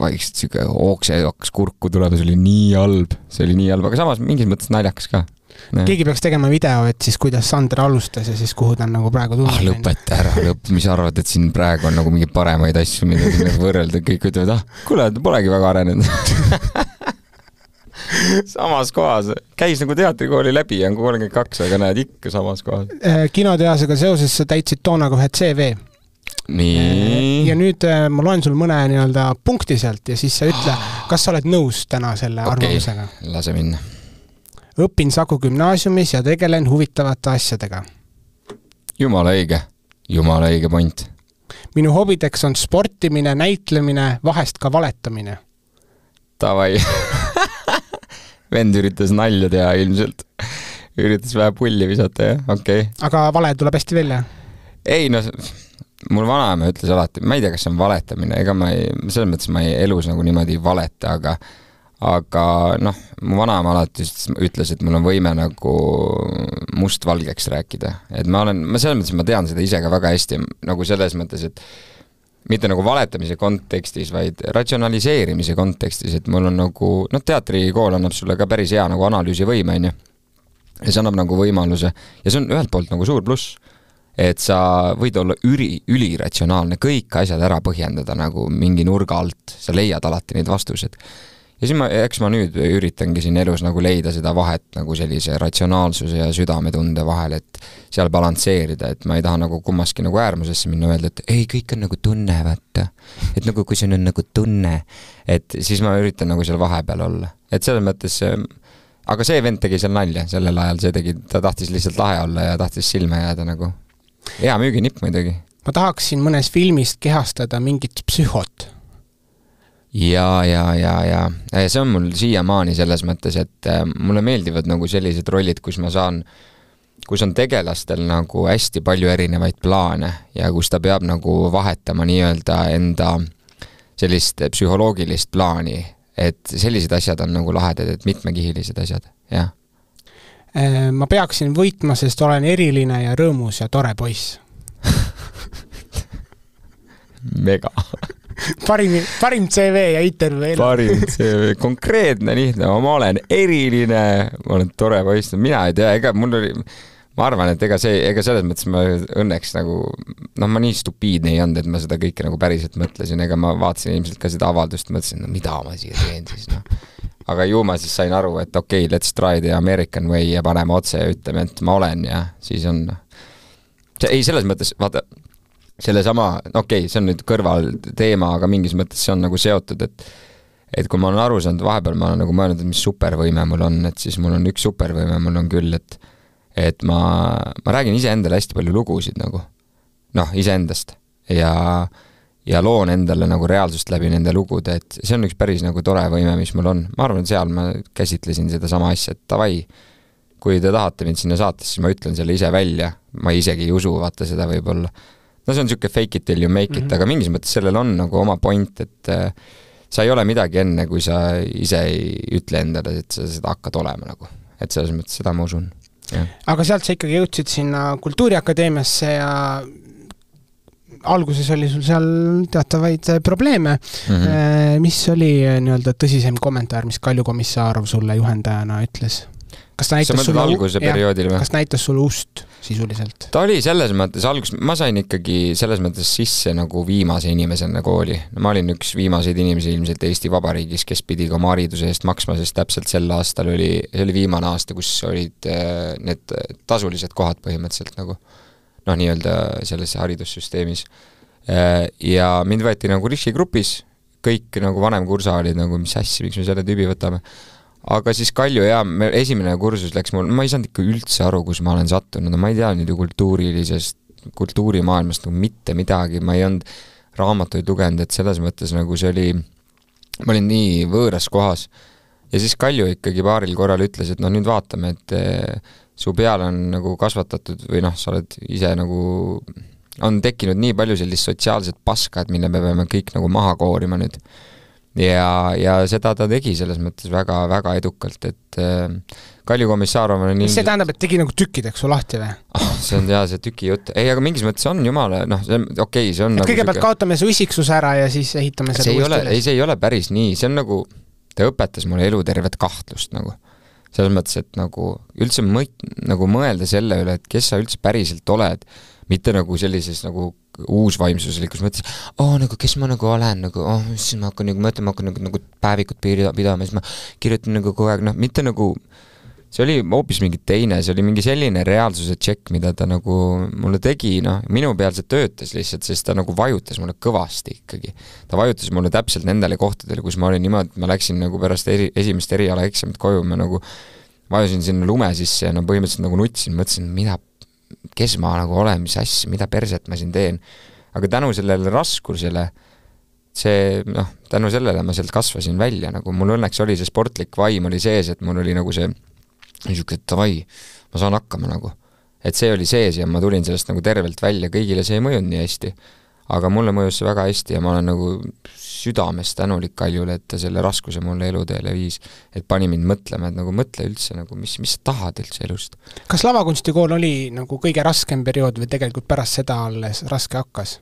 vaikselt siuke ookse hakkas kurku tulema, see oli nii halb, aga samas mingis mõttes naljakas ka. Keegi peaks tegema video, et siis kuidas Sander alustas ja siis kuhu ta on nagu praegu tulnud. Lõpeta ära, mis arvad, et siin praegu on nagu mingi paremaid asju, mida siin võrrelda, kõik ütlevad, kuule, polegi väga arenenud. Samas kohas, käis nagu teatrikooli läbi ja on 32, aga näed ikka samas kohas. Kinotehasega seoses sa täitsid toona kohe CV. Nii. Ja nüüd ma loen sul mõne nii-öelda punkti sealt ja siis sa ütle, kas sa oled nõus täna selle arvamusega? Lase minna. Õpin Saku gümnaasiumis ja tegelen huvitavate asjadega. Jumala õige point. Minu hobideks on sportimine, näitlemine, vahest ka valetamine. Tavai. Vend üritas nalja teha ilmselt. Üritas vähe pulli visata, jah? Okay. Aga vale tuleb hästi välja? Ei, mul vanaema ütles alati, ma ei tea, kas see on valetamine, ega selles mõttes ma ei elus nagu niimoodi valeta, aga mu vanaema alati ütles, et mul on võime nagu mustvalgeks rääkida. Et ma selles mõttes, ma tean seda ise ka väga hästi, nagu selles mõttes, et mitte nagu valetamise kontekstis, vaid ratsionaliseerimise kontekstis, et mul on nagu, teatrikool annab sulle ka päris hea nagu analüüsivõime, ja see annab nagu võimaluse, ja see on ühelt poolt nagu suur pluss, et sa võid olla üliratsionaalne, kõik asjad ära põhjendada nagu mingi nurga alt, sa leiad alati neid vastused. Ja siis eks ma nüüd üritangi siin elus nagu leida seda vahet nagu sellise ratsionaalsuse ja südametunde vahel, et seal balansseerida, et ma ei taha nagu kummaski nagu äärmusesse minna öelda, et ei, kõik on nagu tunne, vaata. Et nagu kui see on nagu tunne, et siis ma üritan nagu seal vahepeal olla. Et selles mõttes, aga see vend tegi seal nalja sellel ajal, ta tahtis lihtsalt lahe olla ja tahtis silme jääda nagu. Hea müüginipp muidugi. Ma tahaksin mõnes filmist kehastada mingit psühhot. Ja. See on mul siiamaani selles mõttes, et mulle meeldivad nagu sellised rollid, kus on tegelastel nagu hästi palju erinevaid plaane ja kus ta peab nagu vahetama nii-öelda enda sellist psühholoogilist plaani, et sellised asjad on nagu lahedad, et mitmekihilised asjad, jah. Ma peaksin võitma, sest olen eriline ja rõõmus ja tore poiss. Mega. Parim CV ja intervju. Parim CV, konkreetne, lihtne, ma olen eriline, ma olen tore poiss, mina ei tea, ma arvan, et ega selles mõttes ma õnneks nagu, ma nii stupiidne ei olnud, et ma seda kõike nagu päriselt mõtlesin, ega ma vaatasin ilmselt ka seda avaldust, mõtlesin, mida ma siia teen siis, Aga ju ma siis sain aru, et okei, let's try the American way ja paneme otse ja ütleme, et ma olen ja siis on. Ei, selles mõttes, vaata, selle sama, see on nüüd kõrval teema, aga mingis mõttes see on nagu seotud, et kui ma olen aru saanud, vahepeal ma olen nagu mõelnud, et mis supervõime mul on, et siis mul on üks supervõime, mul on küll, et ma räägin iseendale hästi palju lugusid nagu, iseendast ja loon endale nagu reaalsust läbi nende lugude, et see on üks päris nagu tore võime, mis mul on. Ma arvan, seal ma käsitlesin seda sama asja, et tavai, kui te tahate mind sinna saates, siis ma ütlen selle ise välja, ma isegi ei usu, vaata seda võib-olla. See on siuke fake it till you make it, aga mingis mõttes sellel on nagu oma point, et sa ei ole midagi enne, kui sa ise ei ütle endale, et sa seda hakkad olema nagu. Et selles mõttes seda ma usun. Ja. Aga sealt sa ikkagi jõudsid sinna Kultuuriakadeemiasse ja alguses oli sul seal teatavaid probleeme. Mis oli nii-öelda tõsisem kommentaar, mis Kalju Komissarov sulle juhendajana ütles? Kas näitas sulle ust sisuliselt? Ta oli selles mõttes alguses, ma sain ikkagi selles mõttes sisse nagu viimase inimesena kooli. Ma olin üks viimaseid inimesi ilmselt Eesti Vabariigis, kes pidi ka oma hariduse eest maksma, sest täpselt sel aastal see oli viimane aasta, kus olid need tasulised kohad põhimõtteliselt nagu nii-öelda selles haridussüsteemis. Ja mind võeti nagu riskigrupis, kõik nagu vanem kursa olid nagu, mis asja, miks me selle tüübi võtame. Aga siis Kalju esimene kursus läks mul, ma ei saanud ikka üldse aru, kus ma olen sattunud, ma ei tea nüüd kultuurimaailmast nagu mitte midagi, ma ei olnud raamatuid lugenud, et selles mõttes nagu see oli, ma olin nii võõras kohas. Ja siis Kalju ikkagi paaril korral ütles, et nüüd vaatame, et su peal on nagu kasvatatud või sa oled ise nagu, on tekkinud nii palju sellist sotsiaalset paska, et mille me peame kõik nagu maha koorima nüüd. Ja seda ta tegi selles mõttes väga, väga edukalt, et Kalju Komissarov on see tähendab, et tegi nagu tükkideks su lahti või? See on see tüki jutt. Ei, aga mingis mõttes on jumala, see on nagu kõigepealt kaotame see usiksus ära ja siis ehitame seda uuesti. See ei ole päris nii, see on nagu, ta õpetas mulle elutervet kahtlust nagu. Selles mõttes, et nagu üldse mõelda selle üle, et kes sa üldse päriselt oled, mitte nagu sellises nagu uusvaimsuselikus mõttes, nagu kes ma nagu olen, nagu, siis ma hakkan nagu päevikut pidama, siis ma kirjutan nagu kogu aeg, mitte nagu, see oli hoopis mingi teine, see oli mingi selline reaalsuse tšekk, mida ta nagu mulle tegi, minu peal see töötas lihtsalt, sest ta nagu vajutas mulle kõvasti ikkagi. Ta vajutas mulle täpselt nendele kohtadele, kus ma olin niimoodi, et ma läksin nagu pärast esimest eriala eksamit koju, ma nagu vajusin sinna lume sisse ja põhimõtteliselt nagu nutsin, mõtlesin, kes ma nagu olen, mis asja, mida perset ma siin teen. Aga tänu sellele raskusele, tänu sellele ma sealt kasvasin välja, nagu mul õnneks oli see sportlik vaim oli sees, et mul oli nagu see niisugune, et tavai, ma saan hakkama nagu. Et see oli sees ja ma tulin sellest nagu tervelt välja, kõigile see ei mõjunud nii hästi. Aga mulle mõjus see väga hästi ja ma olen nagu südames tänulik Kaljule, et ta selle raskuse mulle eluteele viis, et pani mind mõtlema, et nagu mõtle üldse, nagu, mis sa tahad üldse elust. Kas lavakunstikool oli nagu kõige raskem periood või tegelikult pärast seda alles raske hakkas?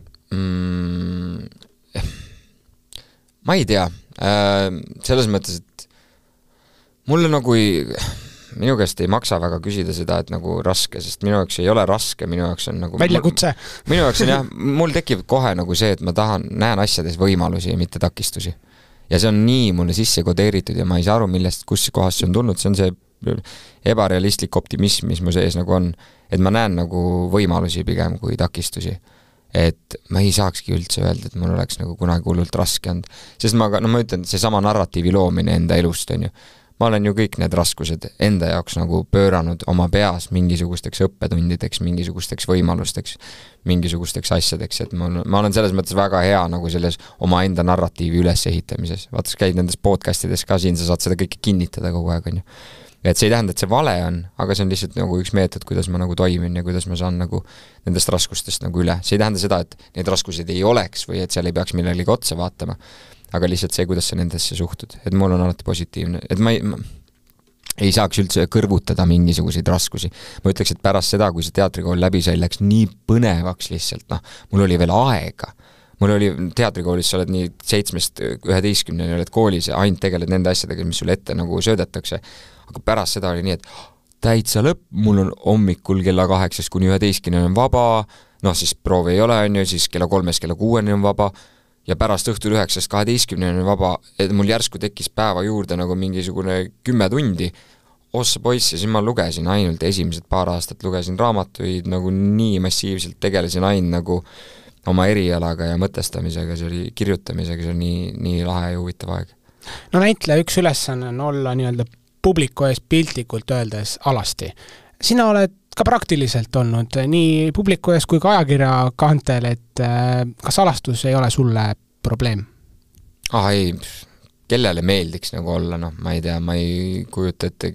Ma ei tea. Selles mõttes, et mulle nagu minu käest ei maksa väga küsida seda, et nagu raske, sest minu jaoks ei ole raske, minu jaoks on nagu väljakutse. Minu jaoks on mul tekib kohe nagu see, et ma näen asjades võimalusi ja mitte takistusi. Ja see on nii mulle sisse kodeeritud ja ma ei saa aru, kus kohas see on tulnud, see on see ebarealistlik optimism, mis mu sees nagu on, et ma näen nagu võimalusi pigem kui takistusi. Et ma ei saakski üldse öelda, et mul oleks nagu kunagi hullult raske olnud. Sest ma ütlen, see sama narratiivi loomine enda elust on ju. Ma olen ju kõik need raskused enda jaoks nagu pööranud oma peas mingisugusteks õppetundideks, mingisugusteks võimalusteks, mingisugusteks asjadeks, et ma olen selles mõttes väga hea nagu selles oma enda narratiivi ülesehitamises. Vaata, käid nendes podcastides ka siin, sa saad seda kõike kinnitada kogu aeg, on ju. Et see ei tähenda, et see vale on, aga see on lihtsalt nagu üks meetod, kuidas ma nagu toimin ja kuidas ma saan nagu nendest raskustest nagu üle. See ei tähenda seda, et need raskused ei oleks või et seal ei peaks millelegi otsa vaatama, aga lihtsalt see, kuidas sa nendesse suhtud. Et mul on alati positiivne, et ma ei saaks üldse kõrvutada mingisuguseid raskusi. Ma ütleks, et pärast seda, kui see teatrikool läbi sai, läks nii põnevaks lihtsalt, mul oli veel aega. Mul oli teatrikoolis, sa oled nii 7-11 oled koolis ja ainult tegeled nende asjadega, mis sulle ette nagu söödetakse. Aga pärast seda oli nii, et täitsa lõpp, mul on hommikul kella 8 kuni 11 on vaba, siis proovi ei ole, on ju, siis kella 3 kella 6 on vaba ja pärast õhtul 9-12 on vaba, et mul järsku tekkis päeva juurde nagu mingisugune 10 tundi. Ossa poiss ja siis ma lugesin ainult esimesed paar aastat, lugesin raamatuid nagu nii massiivselt, tegelesin ainult nagu oma erialaga ja mõtestamisega, see oli kirjutamisega, see oli nii lahe ja huvitav aeg. No näitleja üks ülesanne on olla nii-öelda publiku ees piltlikult öeldes alasti. Sina oled ka praktiliselt olnud nii publiku ees kui ka ajakirja kantel, et kas alastus ei ole sulle probleem? Ei, kellele meeldiks nagu olla, ma ei tea, ma ei kujuta ette,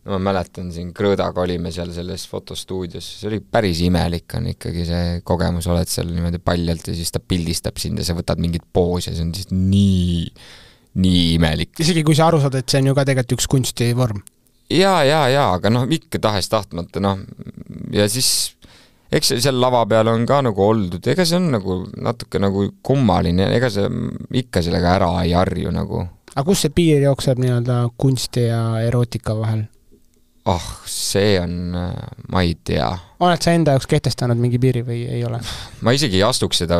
ma mäletan siin Krõõdaga olime seal selles fotostuudios, see oli päris imelik on ikkagi see kogemus, oled seal niimoodi paljalt ja siis ta pildistab sind ja sa võtad mingit poosi ja see on siis nii imelik. Isegi kui sa aru saad, et see on ju ka tegelikult üks kunstivorm. Ja, aga ikka tahes tahtmata, ja siis eks seal lava peal on ka nagu oldud, ega see on nagu natuke nagu kummaline, ega see ikka sellega ära ei harju nagu. Aga kus see piir jookseb nii-öelda kunsti ja erootika vahel? See on, ma ei tea. Oled sa enda jaoks kehtestanud mingi piiri või ei ole? Ma isegi ei astuks seda,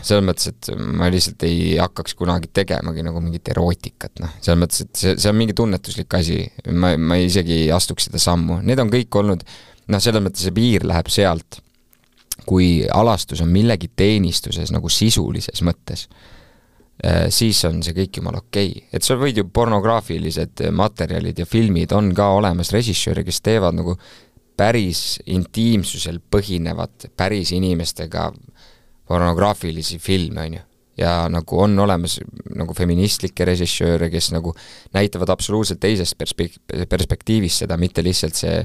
selles mõttes, et ma lihtsalt ei hakkaks kunagi tegemagi nagu mingit erootikat, selles mõttes, et see on mingi tunnetuslik asi, ma isegi ei astuks seda sammu. Need on kõik olnud, selles mõttes see piir läheb sealt, kui alastus on millegi teenistuses nagu sisulises mõttes, siis on see kõik jumal okei. Et sa võid ju pornograafilised materjalid ja filmid on ka olemas režissööri, kes teevad nagu päris intiimsusel põhinevat päris inimestega pornograafilisi filme, on ju. Ja nagu on olemas nagu feministlikke režissööre, kes nagu näitavad absoluutselt teisest perspektiivist seda, mitte lihtsalt see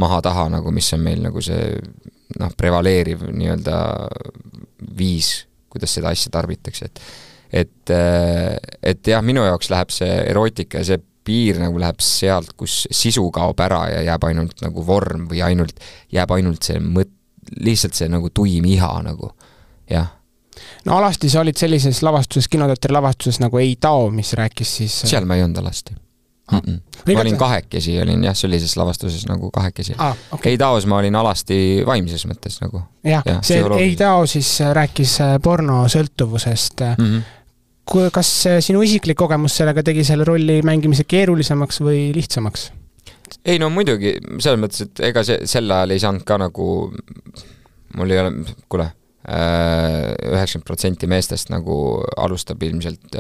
maha-taha, nagu mis on meil nagu see prevaleeriv nii-öelda viis, kuidas seda asja tarbitakse, et jah, minu jaoks läheb see erootika ja see piir nagu läheb sealt, kus sisu kaob ära ja jääb ainult nagu vorm või jääb ainult see lihtsalt see nagu tuim iha nagu, jah. No alasti sa olid sellises lavastuses, kinoteatri lavastuses nagu Ei Tao, mis rääkis siis... Seal ma ei olnud alasti. Ma olin kahekesi, olin jah, sellises lavastuses nagu kahekesi. Okay. Ei Taos ma olin alasti vaimses mõttes nagu. Jah, see Ei Tao siis rääkis porno sõltuvusest. Kas sinu isiklik kogemus sellega tegi selle rolli mängimise keerulisemaks või lihtsamaks? Ei no muidugi, selles mõttes, et ega sel ajal ei saanud ka nagu, mul ei ole, kuule, 90% meestest nagu alustab ilmselt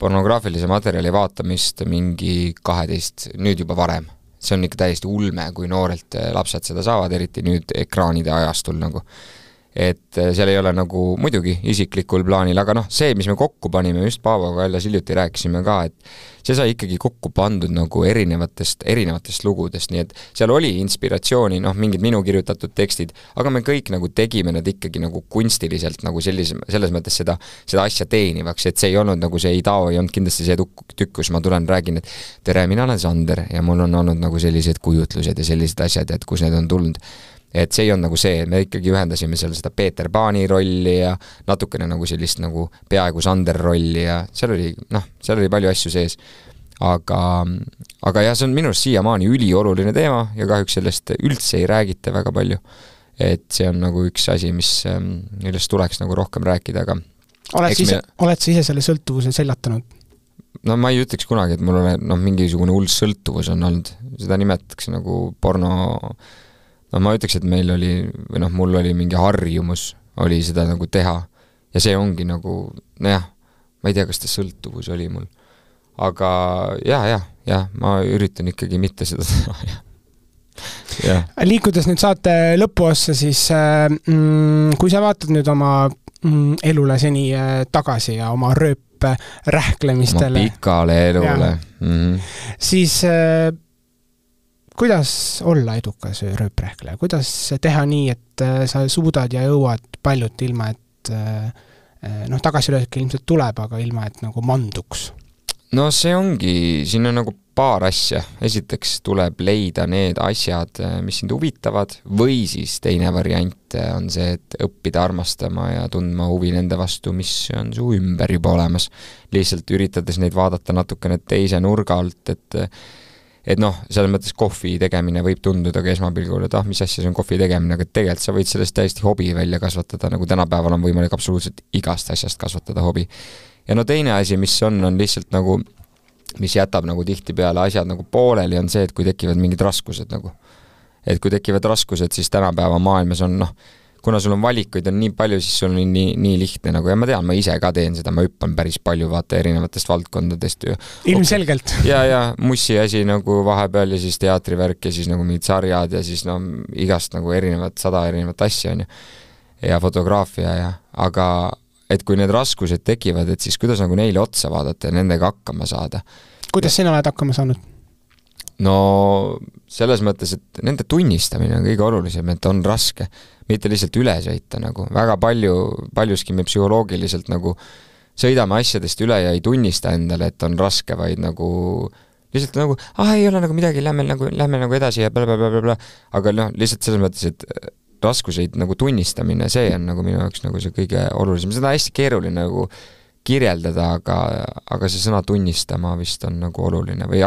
pornograafilise materjali vaatamist mingi 12, nüüd juba varem. See on ikka täiesti ulme, kui noorelt lapsed seda saavad, eriti nüüd ekraanide ajastul nagu. Et seal ei ole nagu muidugi isiklikul plaanil, aga see, mis me kokku panime, just Paavoga väljas hiljuti rääkisime ka, et see sai ikkagi kokku pandud nagu erinevatest lugudest, nii et seal oli inspiratsiooni, mingid minu kirjutatud tekstid, aga me kõik nagu tegime nad ikkagi nagu kunstiliselt nagu selles mõttes seda asja teenivaks, et see ei olnud nagu see Ei Tao, ei olnud kindlasti see tükk, kus ma tulen räägin, et tere, mina olen Sander ja mul on olnud nagu sellised kujutlused ja sellised asjad, et kus need on tulnud. Et see ei on nagu see, me ikkagi ühendasime seal seda Peeter Paani rolli ja natukene nagu sellist nagu peaaegu Sander rolli ja seal oli palju asju sees. Aga jah, see on minu arust siiamaani ülioluline teema ja kahjuks sellest üldse ei räägita väga palju. Et see on nagu üks asi, millest tuleks nagu rohkem rääkida, aga oled sa ise selle sõltuvuse seljatanud? No ma ei ütleks kunagi, et mul on mingisugune hull sõltuvus on olnud. Seda nimetatakse nagu porno... ma ütleks, et meil oli, või mul oli mingi harjumus, oli seda nagu teha. Ja see ongi nagu, ma ei tea, kas ta sõltuvus oli mul. Aga jah, ma üritan ikkagi mitte seda teha. Liikudes nüüd saate lõpuossa, siis kui sa vaatad nüüd oma elule seni tagasi ja oma rööprähklemistele... Oma pikale elule. Siis... kuidas olla edukas rööprähkleja? Kuidas teha nii, et sa suudad ja jõuad paljut ilma, et tagasilööke ilmselt tuleb, aga ilma, et nagu manduks? No see ongi, siin on nagu paar asja. Esiteks tuleb leida need asjad, mis sind huvitavad, või siis teine variant on see, et õppida armastama ja tundma huvi nende vastu, mis on su ümber juba olemas. Lihtsalt üritades neid vaadata natukene teise nurga alt, et selles mõttes kohvi tegemine võib tunduda ka esmapilgul, et mis asja see on kohvi tegemine, aga tegelikult sa võid sellest täiesti hobi välja kasvatada, nagu tänapäeval on võimalik absoluutselt igast asjast kasvatada hobi. Ja teine asi, mis on lihtsalt nagu, mis jätab nagu tihti peale asjad nagu pooleli, on see, et kui tekivad mingid raskused nagu. Et kui tekivad raskused, siis tänapäeva maailmas on kuna sul on valikuid on nii palju, siis sul on nii lihtne nagu, ja ma tean, ma ise ka teen seda, ma hüppan päris palju vaata erinevatest valdkondadest. Ilmselgelt. Ja mussi asi nagu vahepeal ja siis teatrivärk ja siis nagu mingid sarjad ja siis igast nagu 100 erinevat asja on ja fotograafia aga et kui need raskused tekivad, et siis kuidas nagu neile otsa vaadata ja nendega hakkama saada. Kuidas sina oled hakkama saanud? no selles mõttes, et nende tunnistamine on kõige olulisem, et on raske, mitte lihtsalt üle sõita nagu. Väga paljuski me psühholoogiliselt nagu sõidame asjadest üle ja ei tunnista endale, et on raske, vaid nagu lihtsalt nagu, ei ole nagu midagi, lähme nagu edasi ja blablabla, aga lihtsalt selles mõttes, et raskuseid nagu tunnistamine, see on nagu minu jaoks nagu see kõige olulisem. Seda on hästi keeruline nagu kirjeldada, aga see sõna tunnistama vist on nagu oluline või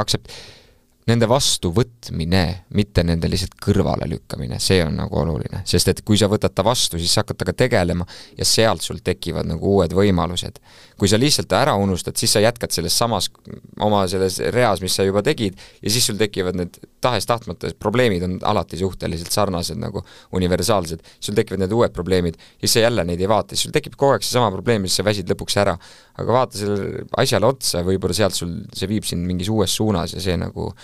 nende vastu võtmine, mitte nende lihtsalt kõrvale lükkamine, see on nagu oluline, sest et kui sa võtad ta vastu, siis sa hakkad taga tegelema ja sealt sul tekivad nagu uued võimalused. Kui sa lihtsalt ära unustad, siis sa jätkad selles samas oma selles reas, mis sa juba tegid ja siis sul tekivad need tahes-tahtmata probleemid on alati suhteliselt sarnased nagu universaalsed, sul tekivad need uued probleemid ja siis sa jälle neid ei vaata, siis sul tekib kogu aeg see sama probleem, siis sa väsid lõpuks ära, aga vaata selle asjale otsa, võib-olla sealt sul see viib sind mingis uues suunas ja see nagu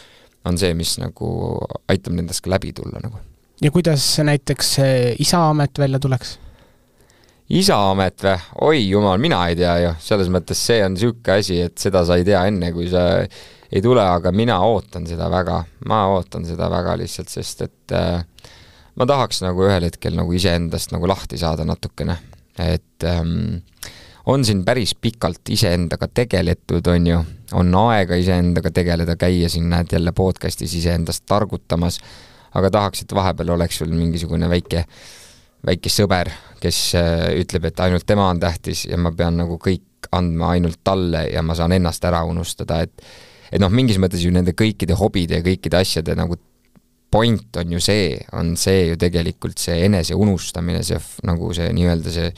on see, mis nagu aitab nendest ka läbi tulla nagu. Ja kuidas näiteks isaamet välja tuleks? Isaamet või? Oi jumal, mina ei tea ju. Selles mõttes see on siuke asi, et seda sa ei tea enne, kui sa ei tule, aga mina ootan seda väga. Ma ootan seda väga lihtsalt, sest et ma tahaks nagu ühel hetkel nagu iseendast nagu lahti saada natukene. Et on siin päris pikalt iseendaga tegeletud, on aega iseendaga tegeleda, käia siin näed jälle podcastis iseendast targutamas, aga tahaks, et vahepeal oleks sul mingisugune väike sõber, kes ütleb, et ainult tema on tähtis ja ma pean nagu kõik andma ainult talle ja ma saan ennast ära unustada, et mingis mõttes ju nende kõikide hobide ja kõikide asjade nagu point on see ju tegelikult see enese unustamine, see nagu see nii-öelda see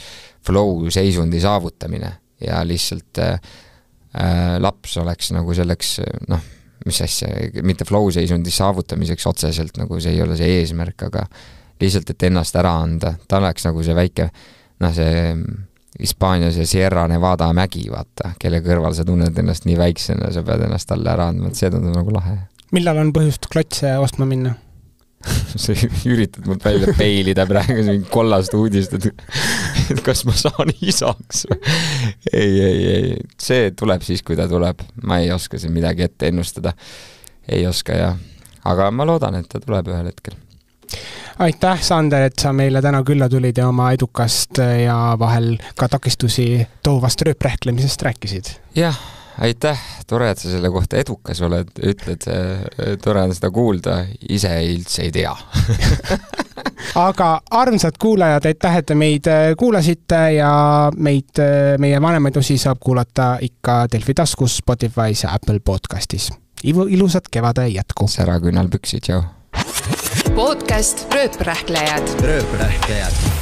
flow seisundi saavutamine ja lihtsalt laps oleks nagu selleks, mis asja, mitte flow seisundi saavutamiseks otseselt, nagu see ei ole see eesmärk, aga lihtsalt, et ennast ära anda. Ta oleks nagu see väike, see Hispaanias ja Sierra Nevada mägi, vaata, kelle kõrval sa tunned ennast nii väiksena, sa pead ennast talle ära andma, et see tundub nagu lahe. Millal on põhjust klotse ostma minna? Sa üritad mult välja peilida praegu mingi kollast uudist, et kas ma saan isaks? Ei, see tuleb siis, kui ta tuleb. Ma ei oska siin midagi ette ennustada. Ei oska ja. Aga ma loodan, et ta tuleb ühel hetkel. Aitäh, Sander, et sa meile täna külla tulid ja oma edukast ja vahel ka takistusi toovast rööprähklemisest rääkisid. Jah, aitäh, tore, et sa selle kohta edukas oled, ütled, tore on seda kuulda, ise üldse ei tea. Aga armsad kuulajad, aitäh, et meid kuulasite ja meie vanemaid osi saab kuulata ikka Delfi taskus, Spotify's ja Apple podcastis. Ilusat kevade jätku. Sära küünal püksid, jau. Podcast Rööprähklejad. Rööprähklejad.